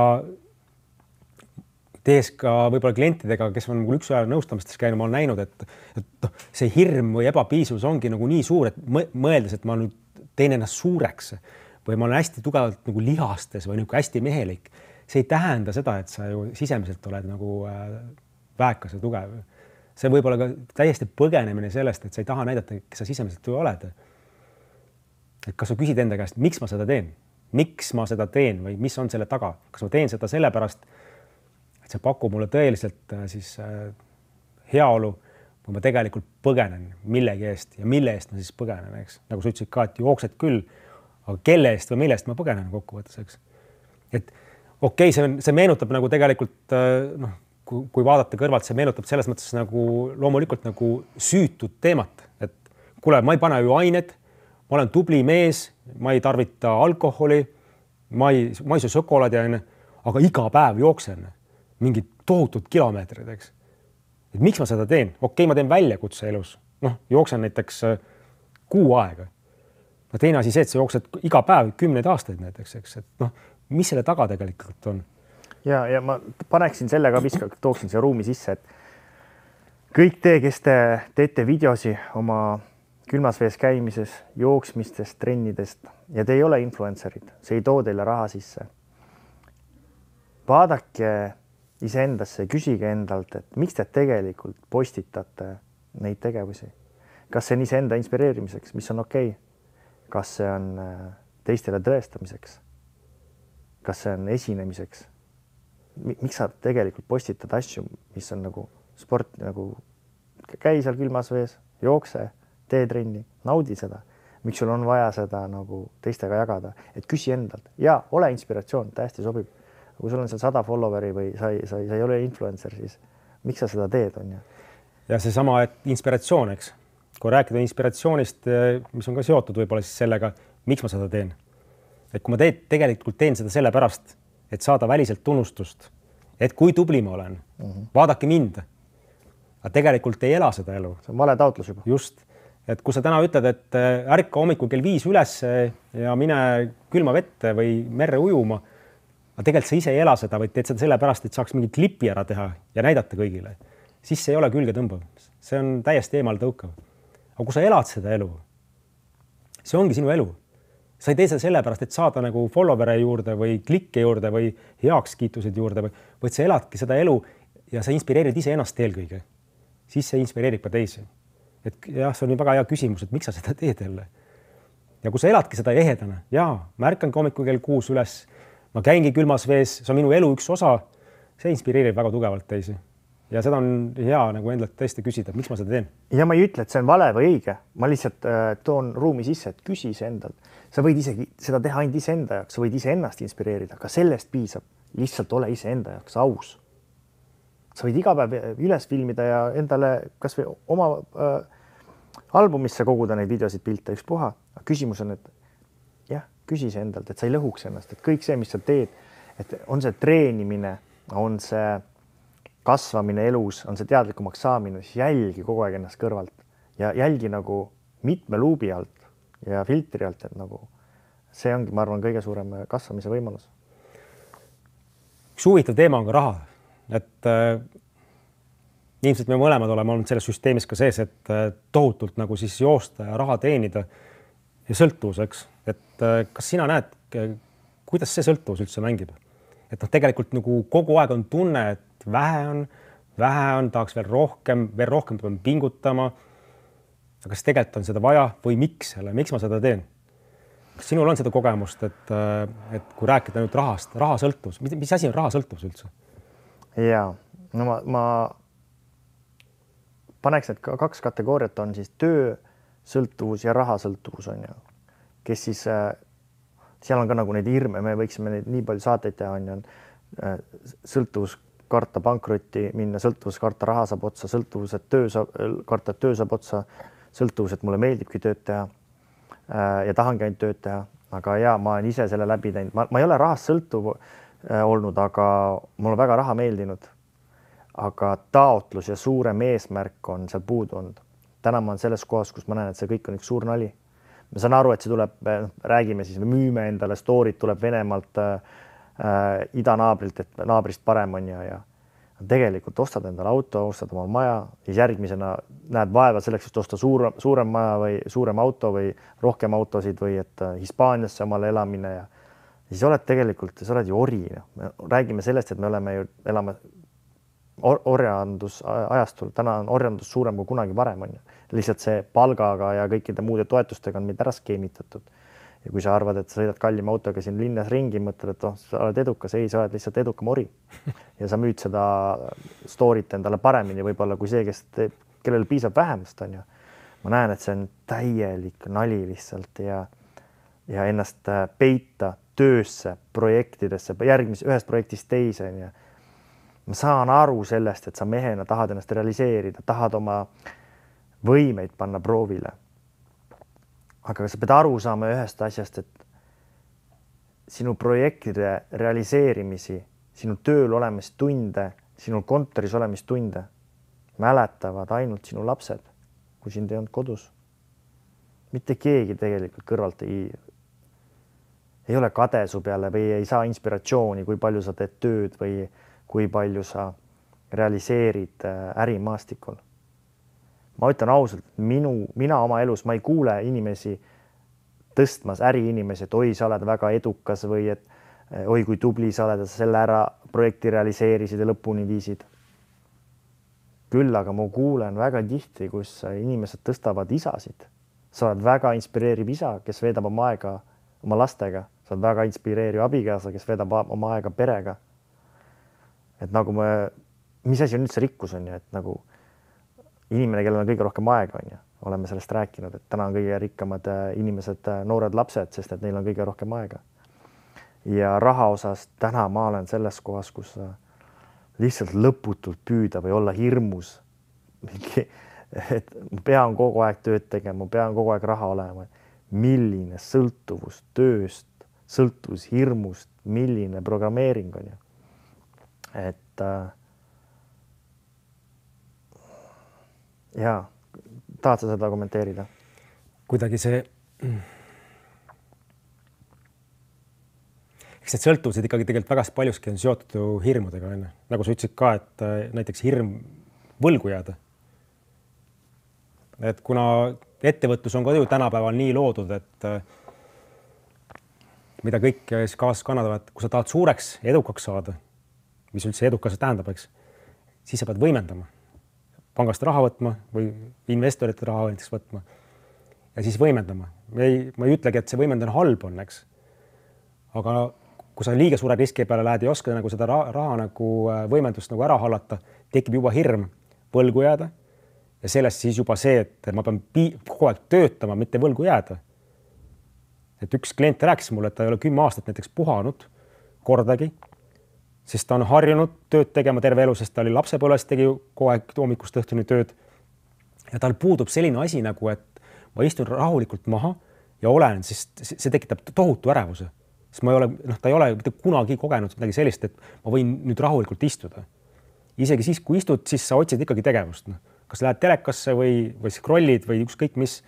tees ka võib-olla klientidega, kes on mul üks ajal nõustamistes käinud, ma olen näinud, et, et see hirm või ebapiisavus ongi nagu nii suur, et mõeldes, et ma nüüd teen ennast suureks või ma olen hästi tugevalt nagu lihastes või nagu hästi mehelik. See ei tähenda seda, et sa ju sisemiselt oled nagu väekas ja tugev. See võib olla ka täiesti põgenemine sellest, et sa ei taha näidata, kes sa sisemiselt ju oled. Et kas sa küsid enda käest, miks ma seda teen? Miks ma seda teen või mis on selle taga? Kas ma teen seda sellepärast, et see pakub mulle tõeliselt siis heaolu või ma tegelikult põgenen millegi eest ja mille eest ma siis põgenen, eks? Nagu sa ütlesid ka, et jooksed küll, aga kelle eest või mille eest ma põgenen kokkuvõttes, eks? Et okei, okay, see, see meenutab nagu tegelikult, noh, kui, kui vaadata kõrvalt, see meenutab selles mõttes nagu loomulikult nagu süütud teemat, et kuule, ma ei pane ju ained, ma olen tubli mees, ma ei tarvita alkoholi, ma ei, ma ei söö šokolaadi, aga iga päev jooksen mingid tohutud kilomeetrid, eks. Et miks ma seda teen? Okei, ma teen väljakutse elus. Noh, jooksen näiteks kuu aega. No teine asi see, et sa jooksed iga päev kümneid aastaid näiteks, eks. Et noh, mis selle taga tegelikult on? Ja, ja ma paneksin selle ka viska, tooksin see ruumi sisse, et kõik te, kes te teete videosi oma külmas vees käimises, jooksmistest, trennidest ja te ei ole influencerid, see ei too teile raha sisse. Vaadake iseendasse, küsige endalt, et miks te tegelikult postitate neid tegevusi. Kas see on iseenda inspireerimiseks, mis on okei? Kas see on teistele tõestamiseks? Kas see on esinemiseks? Miks sa tegelikult postitad asju, mis on nagu sport, nagu käi seal külmas vees, jookse, tee trenni, naudi seda. Miks sul on vaja seda nagu teistega jagada? Et küsi endalt. Ja, ole inspiratsioon, täiesti sobib. Kui sul on seal sada followeri või sa ei, sa ei, sa ei ole influencer, siis miks sa seda teed, on ju? Ja see sama, et inspiratsioon, eks. Kui rääkida inspiratsioonist, mis on ka seotud võib-olla siis sellega, miks ma seda teen. Et kui ma teed, tegelikult teen seda sellepärast, et saada väliselt tunnustust, et kui tubli ma olen, mm-hmm. vaadake mind. Aga tegelikult ei ela seda elu. See on vale taotlus juba. Just. Et kui sa täna ütled, et ärka hommikul kell viis üles ja mine külma vette või merre ujuma, aga tegelikult sa ise ei ela seda, vaid teed seda sellepärast, et saaks mingi klipi ära teha ja näidata kõigile. Siis see ei ole külge tõmbav. See on täiesti eemal tõukav. Aga kui sa elad seda elu, see ongi sinu elu. Sa ei tee seda sellepärast, et saada nagu followere juurde või klikke juurde või heakskiitused juurde, vaid sa eladki seda elu ja sa inspireerid ise ennast eelkõige. Siis see inspireerib ka teisi. Et jah, see on nii väga hea küsimus, et miks sa seda teed jälle. Ja kui sa eladki seda ehedana, jaa, ma ärkangi hommikul kell kuus üles, ma käingi külmas vees, see on minu elu üks osa, see inspireerib väga tugevalt teisi. Ja seda on hea nagu endalt tõesti küsida, miks ma seda teen. Ja ma ei ütle, et see on vale või õige. Ma lihtsalt äh, toon ruumi sisse, et küsi ise endalt. Sa võid isegi seda teha ainult ise enda jaoks, sa võid ise ennast inspireerida, aga sellest piisab. Lihtsalt ole ise enda jaoks aus. Sa võid iga päev üles filmida ja endale kas või oma äh, albumisse koguda neid videosid, pilte, üks puha. Aga küsimus on, et jah, küsi ise endalt, et sa ei lõhuks ennast, et kõik see, mis sa teed, et on see treenimine, on see kasvamine elus, on see teadlikumaks saamine, siis jälgi kogu aeg ennast kõrvalt ja jälgi nagu mitme luubi alt ja filtri alt, et nagu see ongi, ma arvan, kõige suurem kasvamise võimalus. Üks huvitav teema on ka raha, et äh, ilmselt me mõlemad oleme olnud selles süsteemis ka sees, et äh, tohutult nagu siis joosta ja raha teenida ja sõltuvuseks, et äh, kas sina näed, kuidas see sõltuvus üldse mängib? Et noh, tegelikult nagu kogu aeg on tunne, et vähe on, vähe on, tahaks veel rohkem, veel rohkem peame pingutama. Aga kas tegelikult on seda vaja või miks selle, miks ma seda teen? Kas sinul on seda kogemust, et, et kui rääkida nüüd rahast, raha sõltuvus, mis, mis asi on raha sõltuvus üldse? Ja, no ma, ma paneks, et kaks kategooriat on siis töö sõltuvus ja raha sõltuvus on ju, kes siis seal on ka nagu neid hirme, me võiksime neid nii palju saateid teha, on ju, sõltuvus karta pankrotti minna, sõltuvus karta raha saab otsa, sõltuvus, et töö saab, karta, et töö saab otsa, sõltuvus, et mulle meeldibki tööd teha ja tahangi ainult tööd teha. aga ja ma olen ise selle läbi teinud, ma, ma ei ole rahast sõltuv äh, olnud, aga mul on väga raha meeldinud. Aga taotlus ja suurem eesmärk on seal puudu olnud. Täna ma olen selles kohas, kus ma näen, et see kõik on üks suur nali. Ma saan aru, et see tuleb, räägime siis, me müüme endale stoorid, tuleb Venemaalt äh, äh, idanaabrilt, et naabrist parem on ja, ja tegelikult ostad endale auto, ostad oma maja, siis järgmisena näed vaeva selleks, et osta suur, suurem maja või suurem auto või rohkem autosid või et Hispaaniasse omale elamine ja siis oled tegelikult, sa oled ju ori. Me räägime sellest, et me oleme ju, elame or orjandus ajastul, täna on orjandus suurem kui kunagi varem on ju. Lihtsalt see palgaga ja kõikide muude toetustega on meid ära skeemitatud. Ja kui sa arvad, et sa sõidad kallima autoga siin linnas ringi, mõtled, et oh, sa oled edukas, ei, sa oled lihtsalt edukam ori. Ja sa müüd seda story't endale paremini võib-olla kui see, kes teeb, kellel piisab vähemast on ju. Ma näen, et see on täielik nali lihtsalt ja, ja ennast peita töösse, projektidesse, järgmise ühest projektist teise on ju. Ma saan aru sellest, et sa mehena tahad ennast realiseerida, tahad oma võimeid panna proovile. Aga sa pead aru saama ühest asjast, et sinu projektide realiseerimisi, sinu tööl olemist tunde, sinu kontoris olemist tunde mäletavad ainult sinu lapsed, kui sind ei olnud kodus. Mitte keegi tegelikult kõrvalt ei, ei ole kade su peale või ei saa inspiratsiooni, kui palju sa teed tööd või kui palju sa realiseerid ärimaastikul. Ma ütlen ausalt, minu, mina oma elus, ma ei kuule inimesi tõstmas äriinimesi, et oi, sa oled väga edukas või et oi, kui tubli sa oled, selle ära projekti realiseerisid ja lõpuni viisid. Küll aga ma kuulen väga tihti, kus inimesed tõstavad isasid. Sa oled väga inspireeriv isa, kes veedab oma aega oma lastega. Sa oled väga inspireeriv abikaasa, kes veedab oma aega perega. Et nagu me, mis asi on üldse rikkus on ju, et nagu inimene, kellel on kõige rohkem aega on ju, oleme sellest rääkinud, et täna on kõige rikkamad inimesed, noored lapsed, sest et neil on kõige rohkem aega. Ja raha osas täna ma olen selles kohas, kus lihtsalt lõputult püüda või olla hirmus. Et ma pean kogu aeg tööd tegema, ma pean kogu aeg raha olema. Milline sõltuvus tööst, sõltuvus hirmust, milline programmeering on ju. Et äh, jaa, tahad sa seda kommenteerida? Kuidagi see, eks need sõltuvused ikkagi tegelikult väga paljuski on seotud ju hirmudega. Enne. Nagu sa ütlesid ka, et näiteks hirm võlgu jääda. Et kuna ettevõtlus on ka ju tänapäeval nii loodud, et mida kõik kaasas kannatavad, kui sa tahad suureks edukaks saada, mis üldse edukas tähendab, eks, siis sa pead võimendama. Pangast raha võtma või investorite raha näiteks võtma ja siis võimendama. Ma ei, ma ei ütlegi, et see võimendamine halb on, eks. Aga kui sa liiga suure riski peale lähed ja oskad nagu seda raha, raha nagu võimendust nagu ära hallata, tekib juba hirm võlgu jääda ja sellest siis juba see, et ma pean kogu aeg töötama, mitte võlgu jääda. Et üks klient rääkis mulle, et ta ei ole kümme aastat näiteks puhanud kordagi, sest ta on harjunud tööd tegema terve elu, sest ta oli lapsepõlves, tegi kogu aeg hommikust õhtuni tööd. Ja tal puudub selline asi nagu, et ma istun rahulikult maha ja olen, sest see tekitab tohutu ärevuse. Sest ma ei ole, noh, ta ei ole mitte kunagi kogenud midagi sellist, et ma võin nüüd rahulikult istuda. Isegi siis, kui istud, siis sa otsid ikkagi tegevust. No. Kas lähed telekasse või, või scrollid või ükskõik mis.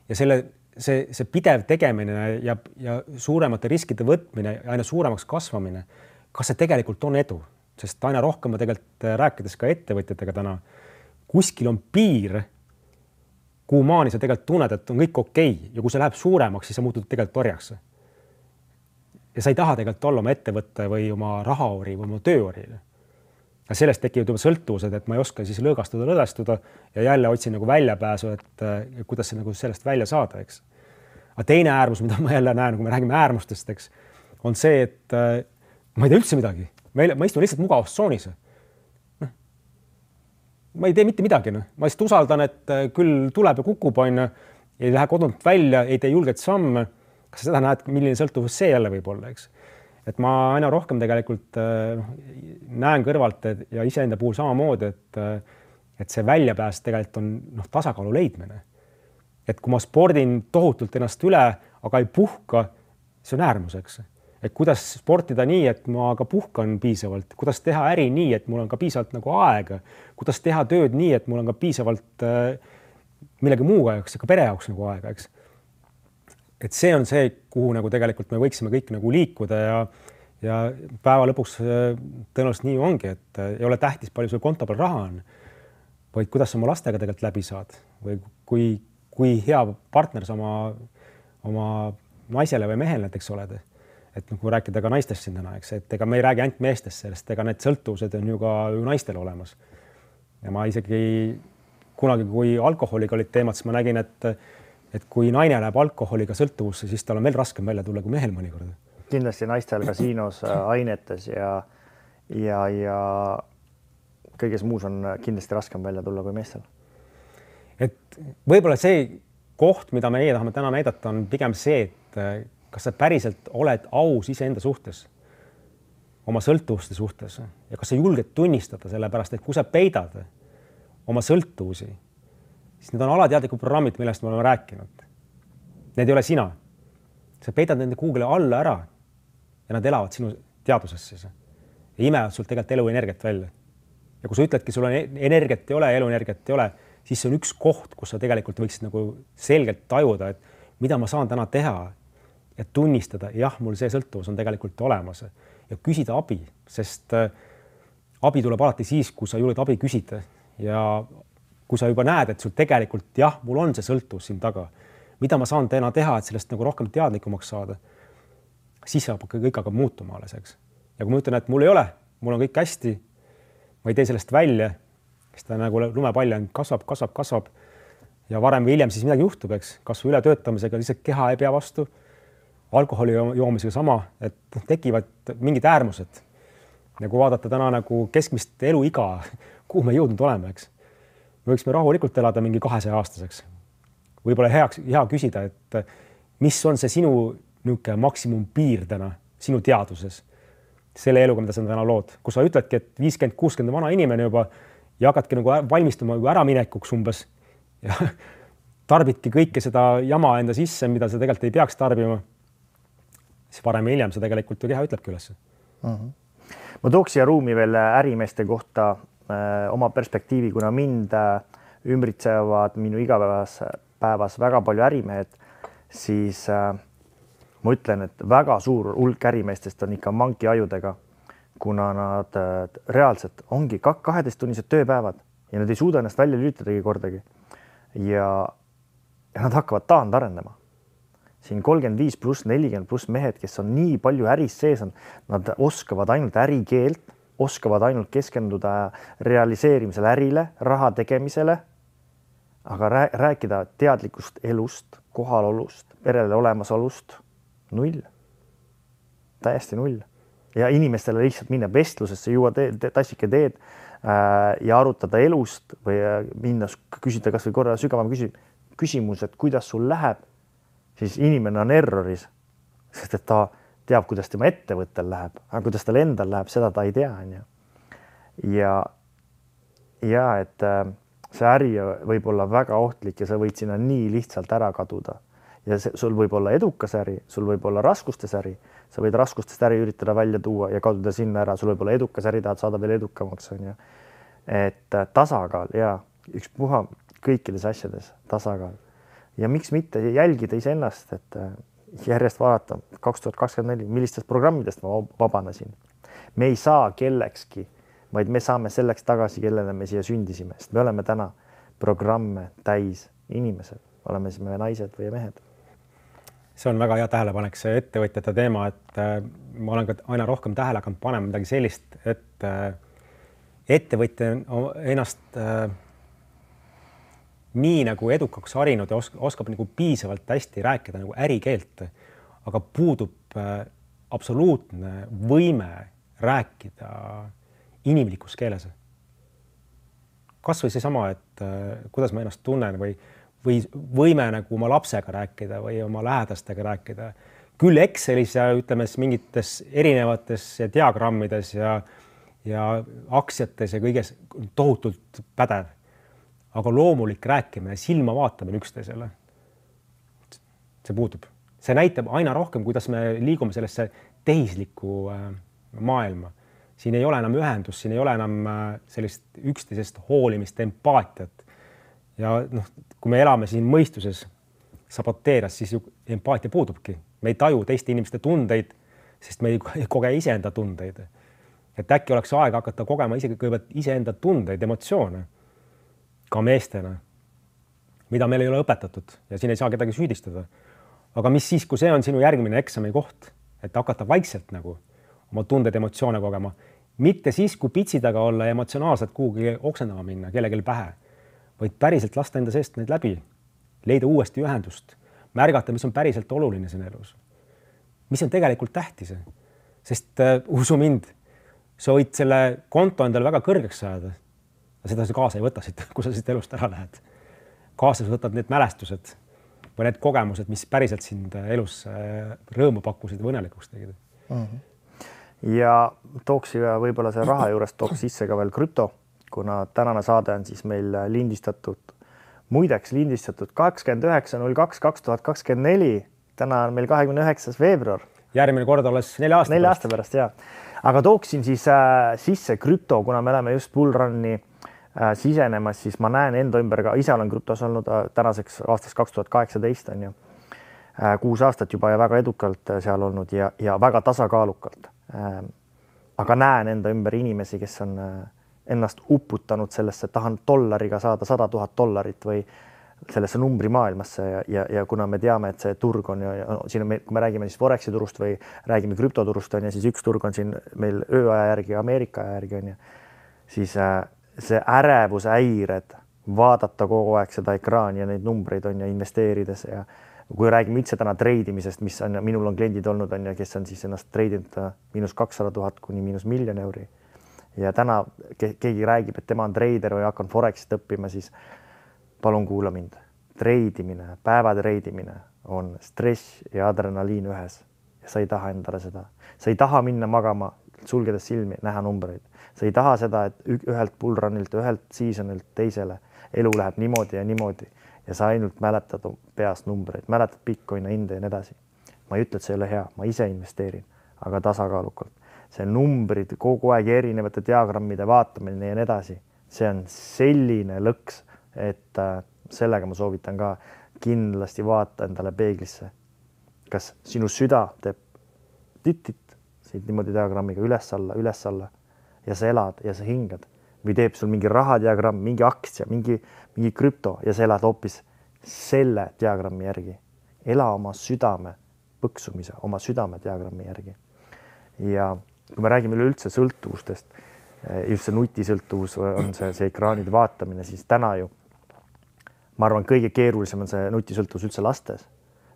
Ja selle, see, see pidev tegemine ja, ja suuremate riskide võtmine ja aina suuremaks kasvamine, kas see tegelikult on edu, sest aina rohkem ma tegelikult rääkides ka ettevõtjatega täna, kuskil on piir, kuhu maani sa tegelikult tunned, et on kõik okei ja kui see läheb suuremaks, siis sa muutud tegelikult orjaks. Ja sa ei taha tegelikult olla oma ettevõtte või oma rahaori või oma tööori. Ja sellest tekivad juba sõltuvused, et ma ei oska siis lõõgastuda, lõõgastuda ja jälle otsin nagu väljapääsu, et kuidas see nagu sellest välja saada, eks. Aga teine äärmus, mida ma jälle näen, kui me räägime äärmustest, eks, on see, et ma ei tee üldse midagi. Ma istun lihtsalt mugavustsoonis. No. Ma ei tee mitte midagi. No. Ma lihtsalt usaldan, et küll tuleb ja kukub, on, ei lähe kodunt välja, ei tee julget samme. Kas seda näed, milline sõltuvus see jälle võib olla? Eks? Et ma aina rohkem tegelikult no, näen kõrvalt et, ja iseenda puhul samamoodi, et, et see väljapääs tegelikult on no, tasakaalu leidmine. Et kui ma spordin tohutult ennast üle, aga ei puhka, see on äärmuseks, et kuidas sportida nii, et ma ka puhkan piisavalt, kuidas teha äri nii, et mul on ka piisavalt nagu aega, kuidas teha tööd nii, et mul on ka piisavalt äh, millegi muuga jaoks, ka pere jaoks nagu aega, eks. Et see on see, kuhu nagu tegelikult me võiksime kõik nagu liikuda ja ja päeva lõpuks tõenäoliselt nii ongi, et ei ole tähtis, palju sul konto peal raha on, vaid kuidas sa oma lastega tegelikult läbi saad või kui, kui hea partner sa oma, oma naisele või mehele näiteks oled. Et kui rääkida ka naistest siin täna, eks, et ega me ei räägi ainult meestest sellest, ega need sõltuvused on ju ka ju naistel olemas. Ja ma isegi kunagi, kui alkoholiga olid teemad, siis ma nägin, et, et kui naine läheb alkoholiga sõltuvusse, siis tal on veel raskem välja tulla kui mehel mõnikord. Kindlasti naistel kasiinos, ainetes ja, ja, ja kõiges muus on kindlasti raskem välja tulla kui meestel. Et võib-olla see koht, mida meie tahame täna näidata, on pigem see, et kas sa päriselt oled aus iseenda suhtes, oma sõltuvuste suhtes ja kas sa julged tunnistada selle pärast, et kui sa peidad oma sõltuvusi, siis need on alateadlikud programmid, millest me oleme rääkinud. Need ei ole sina. Sa peidad nende kuhugile alla ära ja nad elavad sinu teadvusesse ja imevad sul tegelikult eluenergiat välja. Ja kui sa ütledki, sul on energiat ei ole, eluenergiat ei ole, siis see on üks koht, kus sa tegelikult võiksid nagu selgelt tajuda, et mida ma saan täna teha ja tunnistada, jah, mul see sõltuvus on tegelikult olemas ja küsida abi, sest abi tuleb alati siis, kui sa julged abi küsida ja kui sa juba näed, et sul tegelikult jah, mul on see sõltuvus siin taga, mida ma saan täna teha, et sellest nagu rohkem teadlikumaks saada, siis saab kõik hakkab muutuma alles, eks. Ja kui ma ütlen, et mul ei ole, mul on kõik hästi, ma ei tee sellest välja, siis ta nagu lumepall on, kasvab, kasvab, kasvab ja varem või hiljem siis midagi juhtub, eks, kas või üle töötamisega lihtsalt keha ei pea vastu, alkoholi joomisega sama, et tekivad mingid äärmused. Ja kui vaadata täna nagu keskmist eluiga, kuhu me jõudnud oleme, eks. Me võiksime rahulikult elada mingi kahesaja aastaseks. Võib-olla heaks, hea küsida, et mis on see sinu niuke maksimum piir täna sinu teaduses selle eluga, mida sa täna lood, kus sa ütledki, et viiskümmend kuuskümmend vana inimene juba ja hakkadki nagu valmistuma äraminekuks umbes ja tarbidki kõike seda jama enda sisse, mida sa tegelikult ei peaks tarbima, siis varem ja hiljem sa tegelikult ju keha ütlebki üles. Uh-huh. Ma tooks siia ruumi veel ärimeeste kohta äh, oma perspektiivi, kuna mind äh, ümbritsevad minu igapäevas päevas väga palju ärimehed, siis äh, ma ütlen, et väga suur hulk ärimeestest on ikka manki ajudega, kuna nad äh, reaalselt ongi kaheteisttunnised tööpäevad ja nad ei suuda ennast välja lülitadagi kordagi. Ja, ja nad hakkavad taand arendama. Siin kolmkümmend viis pluss nelikümmend pluss mehed, kes on nii palju äris sees on, nad oskavad ainult ärikeelt, oskavad ainult keskenduda realiseerimisele ärile, raha tegemisele, aga rääkida teadlikust elust, kohalolust, perele olemasolust, null. Täiesti null. Ja inimestele lihtsalt minna vestlusesse, juua te, te, tassike teed äh, ja arutada elust või minna küsida kas või korra sügavam küsi, küsimus, et kuidas sul läheb, siis inimene on erroris, sest et ta teab, kuidas tema ettevõttel läheb, aga kuidas tal endal läheb, seda ta ei tea. Ja, ja et äh, see äri võib olla väga ohtlik ja sa võid sinna nii lihtsalt ära kaduda. Ja see, sul võib olla edukas äri, sul võib olla raskustes äri, sa võid raskustest äri üritada välja tuua ja kaduda sinna ära, sul võib olla edukas äri, tahad saada veel edukamaks. On ju. Et tasakaal ja üks puha kõikides asjades tasakaal. Ja miks mitte jälgida iseennast, et järjest vaadata kaks tuhat kakskümmend neli, millistest programmidest ma vabanesin. Me ei saa kellekski, vaid me saame selleks tagasi, kellele me siia sündisime, sest me oleme täna programme täis inimesed, oleme siis me naised või mehed. See on väga hea tähelepanek, see ettevõtjate teema, et äh, ma olen ka aina rohkem tähele hakanud panema midagi sellist, et äh, ettevõtja ennast äh, nii nagu edukaks harinud ja osk oskab nagu piisavalt hästi rääkida nagu ärikeelt, aga puudub äh, absoluutne võime rääkida inimlikus keeles. Kas või seesama, et äh, kuidas ma ennast tunnen või või võime nagu oma lapsega rääkida või oma lähedastega rääkida. Küll Excelis ja ütleme mingites erinevates diagrammides ja, ja aktsiates ja kõiges tohutult pädev. Aga loomulik rääkimine, silma vaatamine üksteisele, see puudub. see näitab aina rohkem, kuidas me liigume sellesse tehislikku maailma. Siin ei ole enam ühendus, siin ei ole enam sellist üksteisest hoolimist, empaatiat. Ja noh, kui me elame siin mõistuses saboteerias, siis ju empaatia puudubki. Me ei taju teiste inimeste tundeid, sest me ei koge iseenda tundeid. Et äkki oleks aega hakata kogema isegi kõigepealt iseenda tundeid, emotsioone, ka meestena, mida meil ei ole õpetatud ja siin ei saa kedagi süüdistada. Aga mis siis, kui see on sinu järgmine eksami koht, et hakata vaikselt nagu oma tunded, emotsioone kogema, mitte siis, kui pitsi taga olla ja emotsionaalselt kuhugi oksendama minna, kellelgi pähe, vaid päriselt lasta enda seest neid läbi, leida uuesti ühendust, märgata, mis on päriselt oluline siin elus. Mis on tegelikult tähtis, sest uh, usu mind, sa võid selle konto endale väga kõrgeks saada, ja seda sa kaasa ei võta siit, kui sa siit elust ära lähed. Kaasa sa võtad need mälestused või need kogemused, mis päriselt sind elus rõõmu pakkusid või õnnelikuks tegid. Mm-hmm. Ja tooks võib-olla see raha juures tooks sisse ka veel krüpto, kuna tänane saade on siis meil lindistatud, muideks lindistatud kakskümmend üheksa null kaks kaks tuhat kakskümmend neli. Täna on meil kahekümne üheksas veebruar. Järgmine kord alles nelja aasta nelja aasta pärast, jah. Aga tooksin siis äh, sisse krüpto, kuna me oleme just bullrunni äh, sisenemas, siis ma näen enda ümber ka, ise olen krüptos olnud äh, tänaseks aastaks kaks tuhat kaheksateist on ju. Äh, kuus aastat juba ja väga edukalt äh, seal olnud ja, ja väga tasakaalukalt. Äh, aga näen enda ümber inimesi, kes on äh, ennast uputanud sellesse, et tahan dollariga saada sada tuhat dollarit või sellesse numbri maailmasse ja, ja, ja kuna me teame, et see turg on ja, ja no, siin on meil, kui me räägime siis Foreksi turust või räägime krüptoturust on ja siis üks turg on siin meil ööaja järgi, Ameerika aja järgi on ja siis äh, see ärevuse häired, vaadata kogu aeg seda ekraani ja neid numbreid on ja investeerides ja kui räägime üldse täna treidimisest, mis on, minul on kliendid olnud on ja kes on siis ennast treidinud miinus kakssada tuhat kuni miinus miljon euri ja täna ke keegi räägib, et tema on treider või hakkan Forexit õppima, siis palun kuula mind. Treidimine, päeva treidimine on stress ja adrenaliin ühes ja sa ei taha endale seda. Sa ei taha minna magama, sulgedes silmi, näha numbreid. Sa ei taha seda, et ühelt bullrunilt, ühelt seasonilt teisele elu läheb niimoodi ja niimoodi ja sa ainult mäletad peast numbreid, mäletad Bitcoini hinde ja nii edasi. Ma ei ütle, et see ei ole hea, ma ise investeerin, aga tasakaalukalt. See numbrid kogu aeg erinevate diagrammide vaatamine ja nii edasi, see on selline lõks, et äh, sellega ma soovitan ka kindlasti vaata endale peeglisse. Kas sinu süda teeb titit siit niimoodi diagrammiga üles-alla, üles-alla ja sa elad ja sa hingad või teeb sul mingi rahadiagramm, mingi aktsia, mingi, mingi krüpto ja sa elad hoopis selle diagrammi järgi. Ela oma südame põksumise, oma südame diagrammi järgi. Ja kui me räägime üleüldse sõltuvustest, just see nutisõltuvus on see, see ekraanide vaatamine, siis täna ju ma arvan, kõige keerulisem on see nutisõltuvus üldse lastes,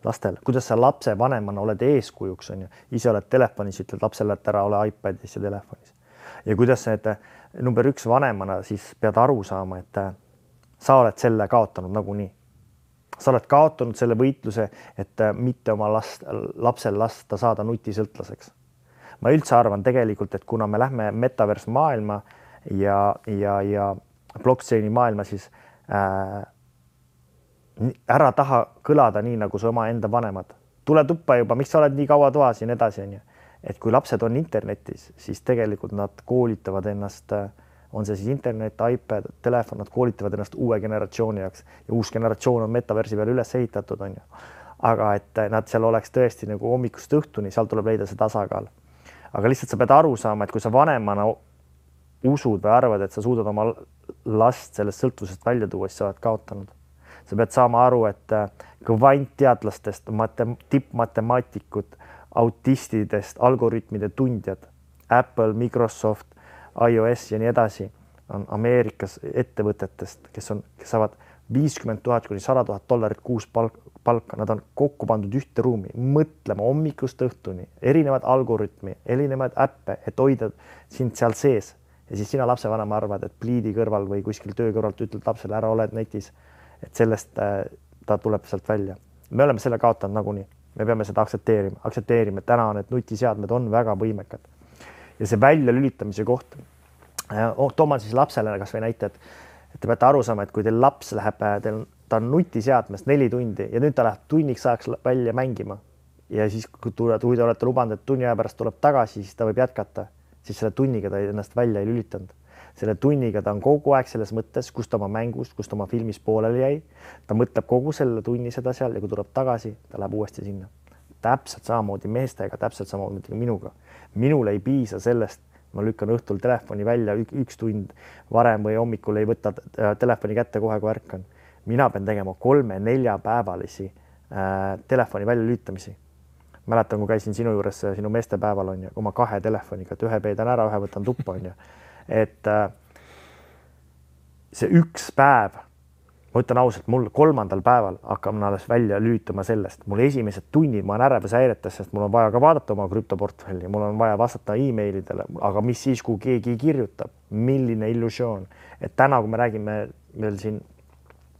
lastel. Kuidas sa lapse vanemana oled eeskujuks, on ju. Ise oled telefonis, ütled lapsele, et ära ole iPadis ja telefonis. Ja kuidas sa, et number üks vanemana siis pead aru saama, et sa oled selle kaotanud nagunii. Sa oled kaotanud selle võitluse, et mitte oma last, lapsel lasta saada nutisõltlaseks. Ma üldse arvan tegelikult, et kuna me lähme metaverse maailma ja, ja, ja blockchaini maailma, siis äh, ära taha kõlada nii, nagu su oma enda vanemad. Tule tuppa juba, miks sa oled nii kaua toas ja nii edasi, on ju. Et kui lapsed on internetis, siis tegelikult nad koolitavad ennast, on see siis internet, iPad, telefon, nad koolitavad ennast uue generatsiooni jaoks ja uus generatsioon on metaversi peal üles ehitatud, on ju. Aga et nad seal oleks tõesti nagu hommikust õhtuni, seal tuleb leida see tasakaal. Aga lihtsalt sa pead aru saama, et kui sa vanemana usud või arvad, et sa suudad oma last sellest sõltuvusest välja tuua, siis sa oled kaotanud. Sa pead saama aru, et kvantteadlastest, tippmatemaatikud, autistidest, algoritmide tundjad, Apple, Microsoft, iOS ja nii edasi on Ameerikas ettevõtetest, kes, on, kes saavad viiskümmend tuhat kuni sada tuhat dollarit kuus palka. Nad on kokku pandud ühte ruumi, mõtlema hommikust õhtuni, erinevad algoritmi, erinevad äppe, et hoida sind seal sees. Ja siis sina lapsevanema arvad, et pliidi kõrval või kuskil töö kõrvalt ütled lapsele, ära oled netis, et sellest ta tuleb sealt välja. Me oleme selle kaotanud nagunii. Me peame seda aktsepteerima. Aktsepteerima, et täna need nutiseadmed on väga võimekad. Ja see välja lülitamise koht. Tooma siis lapsele kas või näite, et, et te peate aru saama, et kui teil laps läheb, teil, ta on nutiseadmest neli tundi ja nüüd ta läheb tunniks ajaks välja mängima, ja siis, kui te olete lubanud, et tunni aja pärast tuleb tagasi, siis ta võib jätkata, siis selle tunniga ta ennast välja ei lülitanud. Selle tunniga ta on kogu aeg selles mõttes, kus ta oma mängust, kus ta oma filmis pooleli jäi. Ta mõtleb kogu selle tunni seda seal ja kui tuleb tagasi, ta läheb uuesti sinna. Täpselt samamoodi meestega, täpselt samamoodi minuga. Minul ei piisa sellest, ma lükkan õhtul telefoni välja üks tund varem või hommikul ei võta telefoni kätte kohe, kui ärkan. Mina pean tegema kolme-nelja päevalisi äh, telefoni välja lülitamisi. Mäletan, kui käisin sinu juures sinu meestepäeval on ja oma kahe telefoniga, et ühe peidan ära, ühe võtan tuppa on ja. Et äh, see üks päev, ma ütlen ausalt, mul kolmandal päeval hakkab alles välja lülitama sellest. Mul esimesed tunnid, ma olen ärevus häiretes, sest mul on vaja ka vaadata oma krüptoportfelli, mul on vaja vastata e-mailidele, aga mis siis, kui keegi kirjutab, milline illusioon. Et täna, kui me räägime veel siin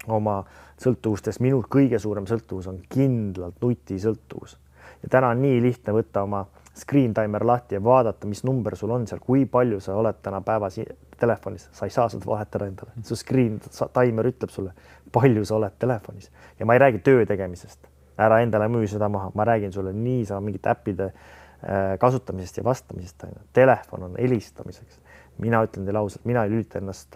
oma sõltuvustest, minul kõige suurem sõltuvus on kindlalt nuti sõltuvus. Ja täna on nii lihtne võtta oma screen timer lahti ja vaadata, mis number sul on seal, kui palju sa oled täna päevas telefonis. Sa ei saa seda vahetada endale. Su screen timer ütleb sulle, palju sa oled telefonis. Ja ma ei räägi töö tegemisest. Ära endale müü seda maha. Ma räägin sulle nii saa mingite äppide kasutamisest ja vastamisest. Telefon on helistamiseks. Mina ütlen teile ausalt, mina ei lülita ennast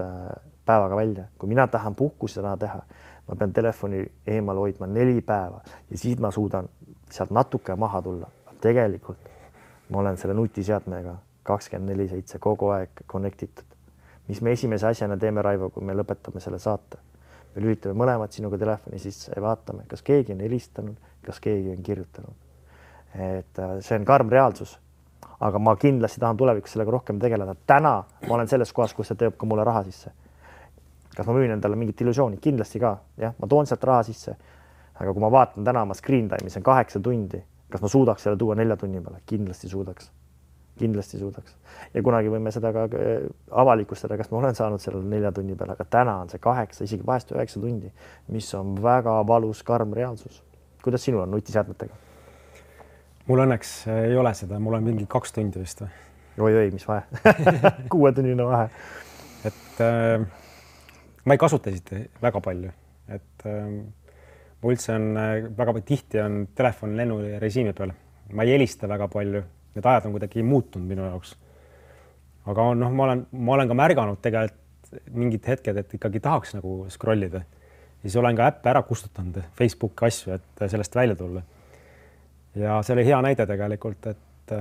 päevaga välja. Kui mina tahan puhkusena teha, ma pean telefoni eemal hoidma neli päeva ja siis ma suudan sealt natuke maha tulla. Tegelikult ma olen selle nutiseadmega kakskümmend neli seitse kogu aeg connectitud. Mis me esimese asjana teeme, Raivo, kui me lõpetame selle saate? Me lülitame mõlemad sinuga telefoni sisse ja vaatame, kas keegi on helistanud, kas keegi on kirjutanud. Et see on karm reaalsus, aga ma kindlasti tahan tulevikus sellega rohkem tegeleda. Täna ma olen selles kohas, kus see teeb ka mulle raha sisse. Kas ma müün endale mingit illusiooni? Kindlasti ka. Ja, ma toon sealt raha sisse. Aga kui ma vaatan täna oma screen time'i, see on kaheksa tundi, kas ma suudaks selle tuua nelja tunni peale? Kindlasti suudaks. Kindlasti suudaks. Ja kunagi võime seda ka avalikustada, kas ma olen saanud selle nelja tunni peale, aga täna on see kaheksa, isegi vahest üheksa tundi, mis on väga valus karm reaalsus. Kuidas sinul on nutiseadmetega? Mul õnneks ei ole seda, mul on mingi kaks tundi vist. Oi, oi, mis vahe? Kuue tunnine vahe. Et äh, ma ei kasuta siit väga palju. Et äh, ma üldse on väga tihti on telefon lennu režiimi peal. Ma ei helista väga palju. Need ajad on kuidagi muutunud minu jaoks. Aga on, noh, ma olen, ma olen ka märganud tegelikult mingid hetked, et ikkagi tahaks nagu scrollida. Ja siis olen ka äppe ära kustutanud Facebooki asju, et sellest välja tulla. Ja see oli hea näide tegelikult, et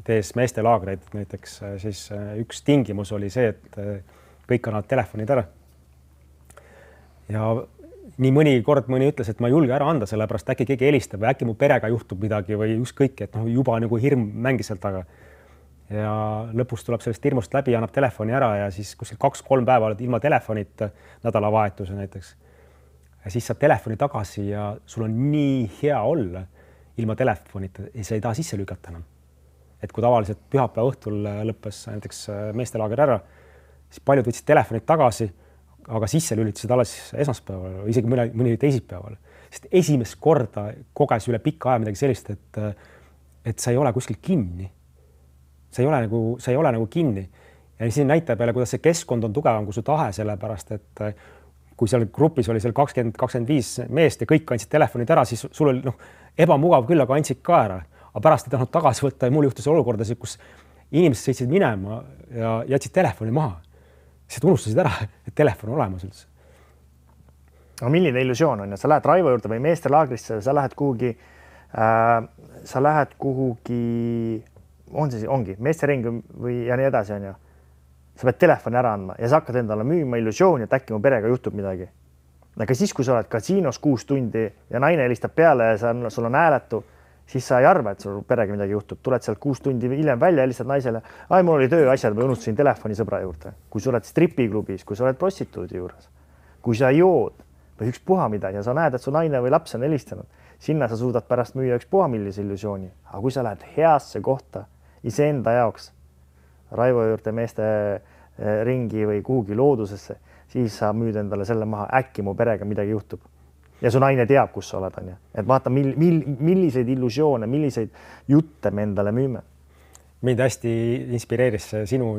tees meeste laagreid näiteks, siis üks tingimus oli see, et kõik annavad telefonid ära. Ja nii mõni kord mõni ütles, et ma ei julge ära anda, sellepärast äkki keegi helistab või äkki mu perega juhtub midagi või ükskõik, et noh, juba nagu hirm mängis sealt taga. Ja lõpus tuleb sellest hirmust läbi, annab telefoni ära ja siis kuskil kaks-kolm päeva oled ilma telefonita nädalavahetuse näiteks. Ja siis saad telefoni tagasi ja sul on nii hea olla ilma telefonita ja sa ei taha sisse lükata enam. Et kui tavaliselt pühapäeva õhtul lõppes näiteks meestelaager ära, siis paljud võtsid telefonid tagasi, aga sisse lülitasid alles esmaspäeval, isegi mõni, mõni teisipäeval. Sest esimest korda koges üle pikka aja midagi sellist, et, et sa ei ole kuskil kinni. Sa ei ole nagu, sa ei ole nagu kinni. Ja siin näitab peale, kuidas see keskkond on tugevam kui su tahe, sellepärast, et kui seal grupis oli seal kakskümmend kakskümmend viis meest ja kõik andsid telefonid ära, siis sul oli noh, ebamugav küll, aga andsid ka ära. Aga pärast ei tahtnud tagasi võtta ja mul juhtus olukordasid, kus inimesed sõitsid minema ja jätsid telefoni maha. Siis unustasid ära, et telefon on olemas üldse. Aga milline illusioon on? Ja sa lähed Raivo juurde või meeste laagrisse, sa lähed kuhugi, äh, sa lähed kuhugi, on see, ongi, meeste ring või ja nii edasi on ju. Sa pead telefoni ära andma ja sa hakkad endale müüma illusiooni, et äkki mu perega juhtub midagi. Aga siis, kui sa oled kasiinos kuus tundi ja naine helistab peale ja sa, sul on hääletu, siis sa ei arva, et sul perega midagi juhtub. Tuled sealt kuus tundi hiljem välja, helistad naisele. Ai, mul oli tööasjad või unustasin telefoni sõbra juurde. Kui sa oled stripiklubis, kui sa oled prostituudi juures, kui sa jood või üks puha midagi ja sa näed, et su naine või laps on helistanud, sinna sa suudad pärast müüa üks puha millise illusiooni. Aga kui sa lähed heasse kohta iseenda jaoks, Raivo juurde meeste ringi või kuhugi loodusesse, siis sa müüd endale selle maha, äkki mu perega midagi juhtub. Ja su naine teab, kus sa oled, on ja. Et vaata, mil, mil, milliseid illusioone, milliseid jutte me endale müüme. Mind hästi inspireeris sinu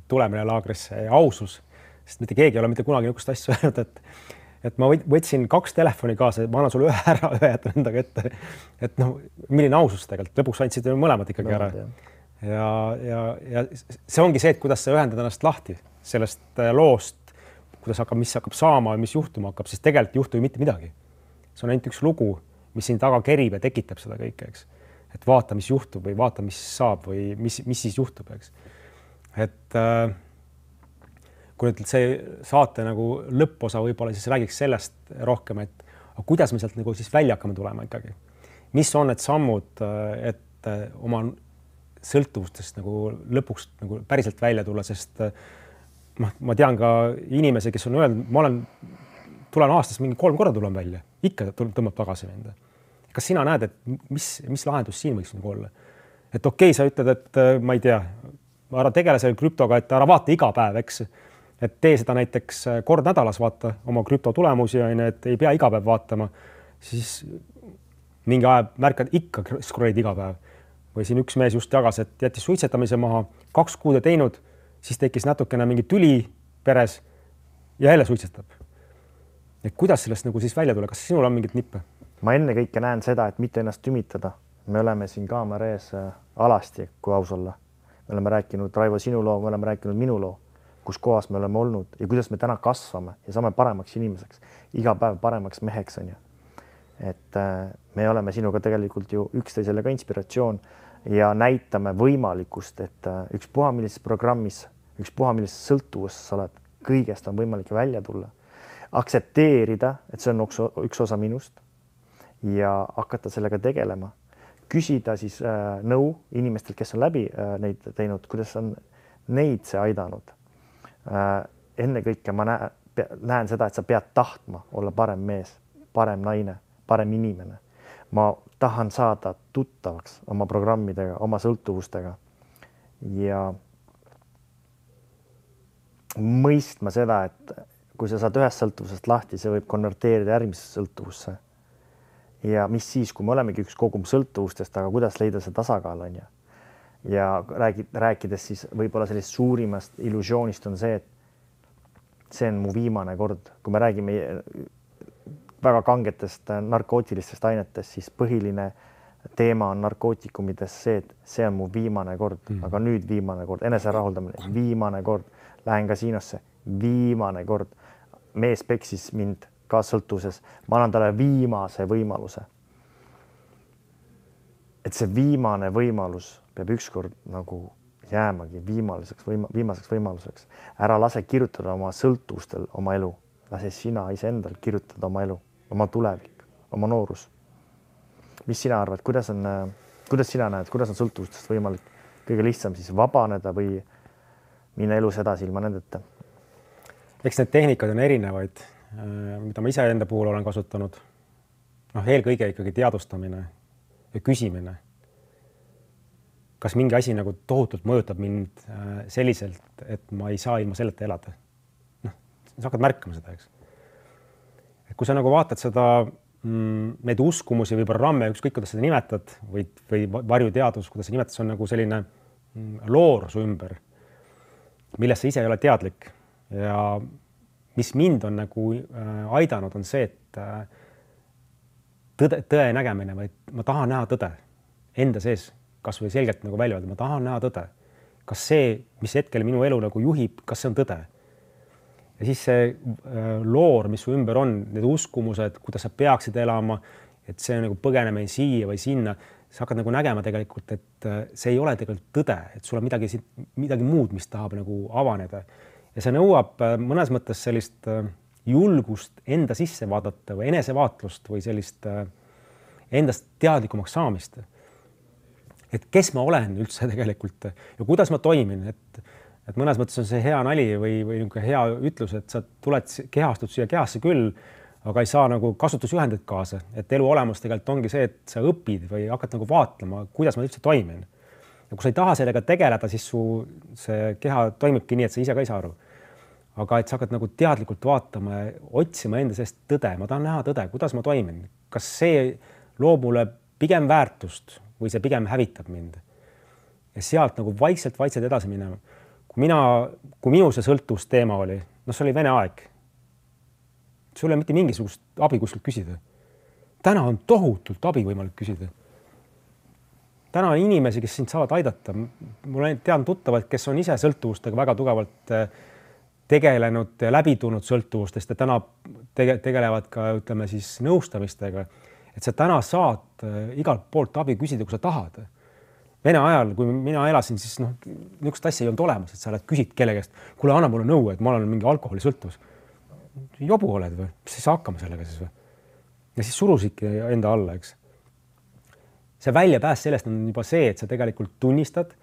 tulemine laagrisse ausus, sest mitte keegi ei ole mitte kunagi niisugust asja öelnud, et, et ma võtsin kaks telefoni kaasa, ma annan sulle ühe ära, ühe jätan endaga ette. Et noh, milline ausus tegelikult, lõpuks andsid mõlemad ikkagi ära. Ja, ja, ja see ongi see, et kuidas sa ühendad ennast lahti sellest loost, kuidas hakkab, mis hakkab saama ja mis juhtuma hakkab, siis tegelikult ei juhtu ju mitte midagi. See on ainult üks lugu, mis siin taga kerib ja tekitab seda kõike, eks. Et vaata, mis juhtub või vaata, mis saab või mis, mis siis juhtub, eks. Et äh, kui nüüd see saate nagu lõpposa võib-olla siis räägiks sellest rohkem, et kuidas me sealt nagu siis välja hakkame tulema ikkagi. Mis on need sammud, et oma sõltuvustest nagu lõpuks nagu päriselt välja tulla, sest ma, ma tean ka inimesi, kes on öelnud, ma olen, tulen aastas mingi kolm korda tulen välja, ikka tõmbab tagasi mind. Kas sina näed, et mis, mis lahendus siin võiks nagu olla? Et okei, okay, sa ütled, et ma ei tea, ära tegele selle krüptoga, et ära vaata iga päev, eks. Et tee seda näiteks kord nädalas vaata oma krüpto tulemusi, et ei pea iga päev vaatama, siis mingi aja märkad ikka scrollid iga päev. Või siin üks mees just jagas, et jättis suitsetamise maha, kaks kuud teinud, siis tekkis natukene mingi tüli peres ja jälle suitsetab. Et kuidas sellest nagu siis välja tule? Kas sinul on mingit nippe? Ma enne kõike näen seda, et mitte ennast tümitada. Me oleme siin kaamera ees alasti, kui aus olla. Me oleme rääkinud Raivo sinu loo, me oleme rääkinud minu loo, kus kohas me oleme olnud ja kuidas me täna kasvame ja saame paremaks inimeseks. Iga päev paremaks meheks on ju. Et me oleme sinuga tegelikult ju üksteisele ka inspiratsioon ja näitame võimalikust, et üks puha millises programmis, üks puha millises sõltuvus sa oled, kõigest on võimalik välja tulla. Aksepteerida, et see on üks osa minust ja hakata sellega tegelema. Küsida siis äh, nõu inimestelt, kes on läbi äh, neid teinud, kuidas on neid see aidanud. Äh, enne kõike ma näen, näen seda, et sa pead tahtma olla parem mees, parem naine, parem inimene. Ma tahan saada tuttavaks oma programmidega, oma sõltuvustega ja mõistma seda, et kui sa saad ühest sõltuvusest lahti, see võib konverteerida järgmisesse sõltuvusse. Ja mis siis, kui me olemegi üks kogum sõltuvustest, aga kuidas leida see tasakaal on ja, ja räägid, rääkides siis võib-olla sellist suurimast illusioonist on see, et see on mu viimane kord. Kui me räägime väga kangetest narkootilistest ainetest, siis põhiline teema on narkootikumides see, et see on mu viimane kord, mm. aga nüüd viimane kord, enese rahuldamine, viimane kord, lähen kasiinosse, viimane kord, mees peksis mind ka sõltuvuses, ma annan talle viimase võimaluse. Et see viimane võimalus peab ükskord nagu jäämagi viimaseks, võima, viimaseks võimaluseks. Ära lase kirjutada oma sõltuvustel oma elu, lase sina iseendal kirjutada oma elu, oma tulevik, oma noorus. Mis sina arvad, kuidas, on, kuidas sina näed, kuidas on sõltuvustest võimalik kõige lihtsam siis vabaneda või minna elus edasi ilma nendeta? Eks need tehnikad on erinevaid, mida ma ise enda puhul olen kasutanud. noh, eelkõige ikkagi teadustamine ja küsimine. Kas mingi asi nagu tohutult mõjutab mind selliselt, et ma ei saa ilma selleta elada? Noh, sa hakkad märkama seda, eks. Et kui sa nagu vaatad seda, neid uskumusi või programme, ükskõik kuidas seda nimetad või, või varjuteadus, kuidas sa nimetad, see on nagu selline loor su ümber, millest sa ise ei ole teadlik. Ja mis mind on nagu aidanud, on see, et tõde, tõe nägemine, vaid ma tahan näha tõde enda sees, kas või selgelt nagu välja öelda, ma tahan näha tõde. Kas see, mis hetkel minu elu nagu juhib, kas see on tõde? Ja siis see loor, mis su ümber on, need uskumused, kuidas sa peaksid elama, et see nagu põgeneme siia või sinna, sa hakkad nagu nägema tegelikult, et see ei ole tegelikult tõde, et sul on midagi, midagi muud, mis tahab nagu avaneda. Ja see nõuab mõnes mõttes sellist julgust enda sisse vaadata või enesevaatlust või sellist endast teadlikumaks saamist. Et kes ma olen üldse tegelikult ja kuidas ma toimin, et, et mõnes mõttes on see hea nali või, või hea ütlus, et sa tuled kehastud siia kehasse küll, aga ei saa nagu kasutusjuhendit kaasa, et elu olemus tegelikult ongi see, et sa õpid või hakkad nagu vaatlema, kuidas ma üldse toimin. Ja kui sa ei taha sellega tegeleda, siis su see keha toimibki nii, et sa ise ka ei saa aru. Aga et sa hakkad nagu teadlikult vaatama, otsima enda seest tõde, ma tahan näha tõde, kuidas ma toimin. Kas see loob mulle pigem väärtust või see pigem hävitab mind? Ja sealt nagu vaikselt, vaikselt edasi minema. Kui mina, kui minu see sõltuvusteema oli, no see oli Vene aeg. sul ei ole mitte mingisugust abi kuskilt küsida. Täna on tohutult abi võimalik küsida. Täna on inimesi, kes sind saavad aidata. Mul tean tuttavad, kes on ise sõltuvustega väga tugevalt tegelenud ja läbi tulnud sõltuvustest ja täna tege, tegelevad ka, ütleme siis, nõustamistega. Et sa täna saad igalt poolt abi küsida, kui sa tahad. Vene ajal, kui mina elasin, siis noh, niisugust asja ei olnud olemas, et sa oled küsid kellegest, kuule, anna mulle nõu, et ma olen mingi alkoholisõltuvus. Jobu oled või? Mis sa hakkama sellega siis või? Ja siis surusidki enda alla, eks. See väljapääs sellest on juba see, et sa tegelikult tunnistad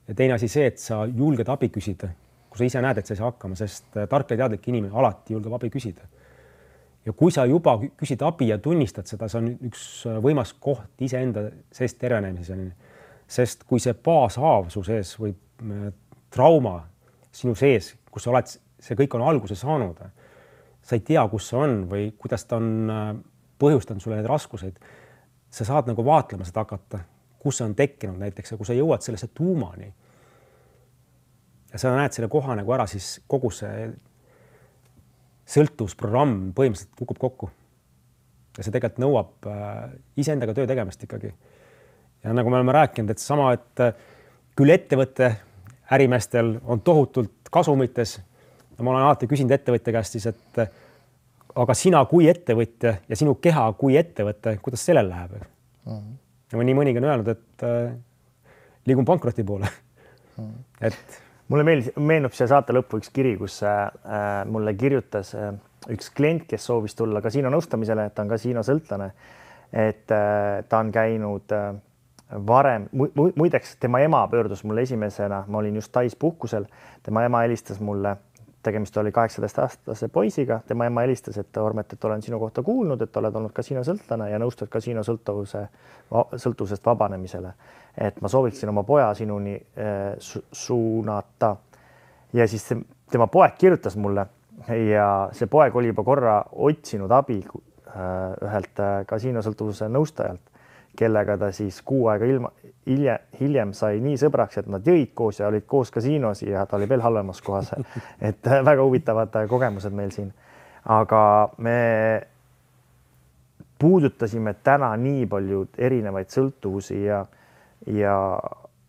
ja teine asi see, et sa julged abi küsida, kui sa ise näed, et sa ei saa hakkama, sest tark ja teadlik inimene alati julgeb abi küsida. Ja kui sa juba küsid abi ja tunnistad seda, see on üks võimas koht iseenda seest tervenemiseni. Sest kui see baashaav su sees või trauma sinu sees, kus sa oled, see kõik on alguse saanud, sa ei tea, kus see on või kuidas ta on põhjustanud sulle need raskuseid, sa saad nagu vaatlema seda hakata, kus see on tekkinud näiteks ja kui sa jõuad sellesse tuumani ja sa näed selle koha nagu ära, siis kogu see sõltuvusprogramm põhimõtteliselt kukub kokku. Ja see tegelikult nõuab iseendaga töö tegemist ikkagi. Ja nagu me oleme rääkinud, et sama, et küll ettevõtte ärimeestel on tohutult kasumites ja ma olen alati küsinud ettevõtja käest siis, et aga sina kui ettevõtja ja sinu keha kui ettevõte, kuidas sellel läheb? Mm-hmm. Ja nii mõnigi on öelnud, et äh, liigun pankroti poole. Mm-hmm. Et... Mulle meeldis, meenub see saate lõppu üks kiri, kus äh, mulle kirjutas äh, üks klient, kes soovis tulla kasiino nõustamisele, et ta on kasiino sõltlane, et äh, ta on käinud äh, varem, mu, muideks tema ema pöördus mulle esimesena, ma olin just Tais puhkusel, tema ema helistas mulle, tegemist oli kaheksateist-aastase poisiga, tema ema helistas, et Ormet, et olen sinu kohta kuulnud, et oled olnud kasiino sõltlane ja nõustad kasiino sõltuvuse, sõltuvusest vabanemisele. Et ma sooviksin oma poja sinuni äh, su suunata. Ja siis tema poeg kirjutas mulle ja see poeg oli juba korra otsinud abi äh, ühelt kasiino sõltuvuse nõustajalt, kellega ta siis kuu aega ilma, hiljem, hiljem sai nii sõbraks, et nad jõid koos ja olid koos kasiinos ja ta oli veel halvemas kohas. Et väga huvitavad kogemused meil siin. Aga me puudutasime täna nii palju erinevaid sõltuvusi ja, ja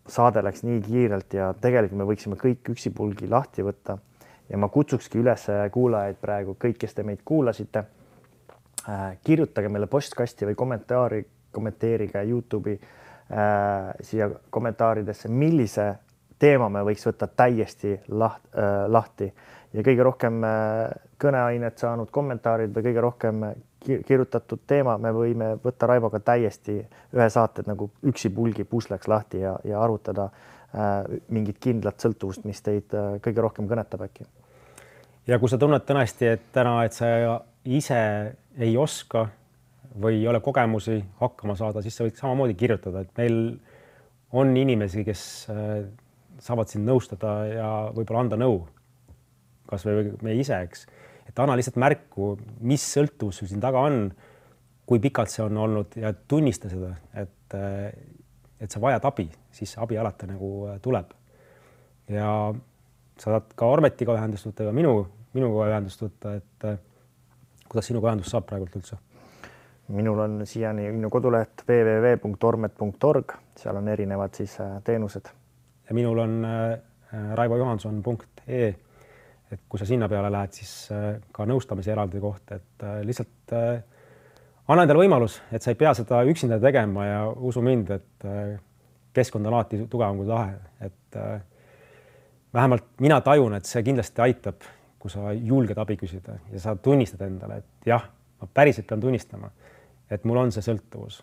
saade läks nii kiirelt ja tegelikult me võiksime kõik üksipulgi lahti võtta. Ja ma kutsukski üles kuulajaid praegu, kõik, kes te meid kuulasite, kirjutage meile postkasti või kommentaari kommenteerige YouTube'i äh, siia kommentaaridesse, millise teema me võiks võtta täiesti laht, äh, lahti ja kõige rohkem äh, kõneainet saanud kommentaarid või kõige rohkem kirjutatud teema me võime võtta Raivoga täiesti ühe saated nagu üksipulgi pusleks lahti ja, ja arutada äh, mingit kindlat sõltuvust, mis teid äh, kõige rohkem kõnetab äkki. Ja kui sa tunned tõesti, et täna, et sa ise ei oska või ei ole kogemusi hakkama saada, siis sa võid samamoodi kirjutada, et meil on inimesi, kes saavad sind nõustada ja võib-olla anda nõu, kas või me ise, eks. Et anna lihtsalt märku, mis sõltuvus sul siin taga on, kui pikalt see on olnud ja tunnista seda, et, et sa vajad abi, siis abi alati nagu tuleb. Ja sa saad ka Ormetiga ühendust võtta ja minu, minuga ühendust võtta, et kuidas sinuga ühendust saab praegult üldse? Minul on siiani minu koduleht w w w punkt ormet punkt org, seal on erinevad siis teenused. Ja minul on raivo johanson punkt e, et kui sa sinna peale lähed, siis ka nõustamise eraldi koht, et lihtsalt anna endale võimalus, et sa ei pea seda üksinda tegema ja usu mind, et keskkond on alati tugevam kui tahe, et vähemalt mina tajun, et see kindlasti aitab, kui sa julged abi küsida ja sa tunnistad endale, et jah, ma päriselt pean tunnistama, et mul on see sõltuvus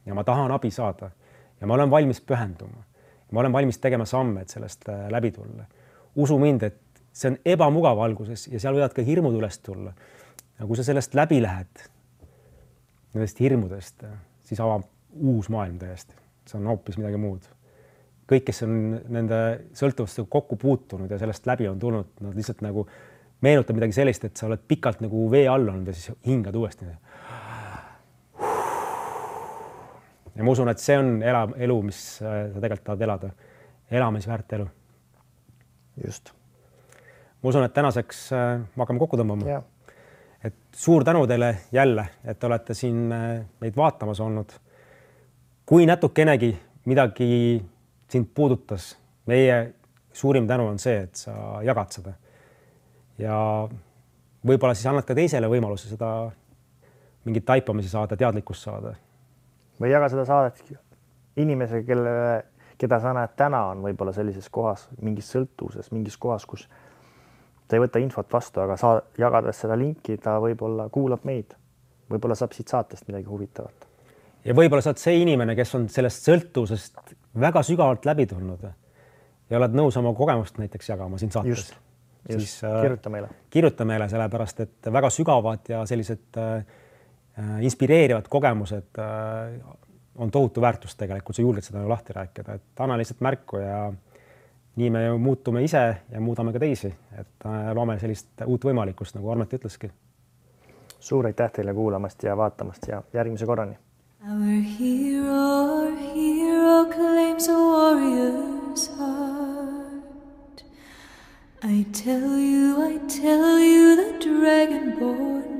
ja ma tahan abi saada ja ma olen valmis pühenduma. Ma olen valmis tegema samme, et sellest läbi tulla. Usu mind, et see on ebamugav alguses ja seal võivad ka hirmud üles tulla. Ja kui sa sellest läbi lähed, nendest hirmudest, siis avab uus maailm täiesti. See on hoopis midagi muud. Kõik, kes on nende sõltuvustega kokku puutunud ja sellest läbi on tulnud, nad lihtsalt nagu meenutab midagi sellist, et sa oled pikalt nagu vee all olnud ja siis hingad uuesti. Ja ma usun, et see on ela, elu, mis sa tegelikult tahad elada. Elamisväärt elu. Just. Ma usun, et tänaseks me hakkame kokku tõmbama. Ja. et suur tänu teile jälle, et te olete siin meid vaatamas olnud. Kui natukenegi midagi sind puudutas, meie suurim tänu on see, et sa jagad seda. Ja võib-olla siis annad ka teisele võimaluse seda mingit taipamisi saada, teadlikkust saada. Või jaga seda saadet inimesega, kelle, keda sa näed täna on võib-olla sellises kohas, mingis sõltuvuses, mingis kohas, kus ta ei võta infot vastu, aga sa jagades seda linki, ta võib-olla kuulab meid. Võib-olla saab siit saatest midagi huvitavat. Ja võib-olla sa oled see inimene, kes on sellest sõltuvusest väga sügavalt läbi tulnud ja oled nõus oma kogemust näiteks jagama siin saates. Just, just. Siis, kirjuta meile. Kirjuta meile sellepärast, et väga sügavad ja sellised äh, inspireerivad kogemused äh, on tohutu väärtus tegelikult, sa julged seda lahti rääkida, et anna lihtsalt märku ja nii me muutume ise ja muudame ka teisi, et loome sellist uut võimalikkust, nagu Armet ütleski. Suur aitäh teile kuulamast ja vaatamast ja järgmise korrani. Our hero, our hero claims a warrior's heart. I tell you, I tell you the dragonborn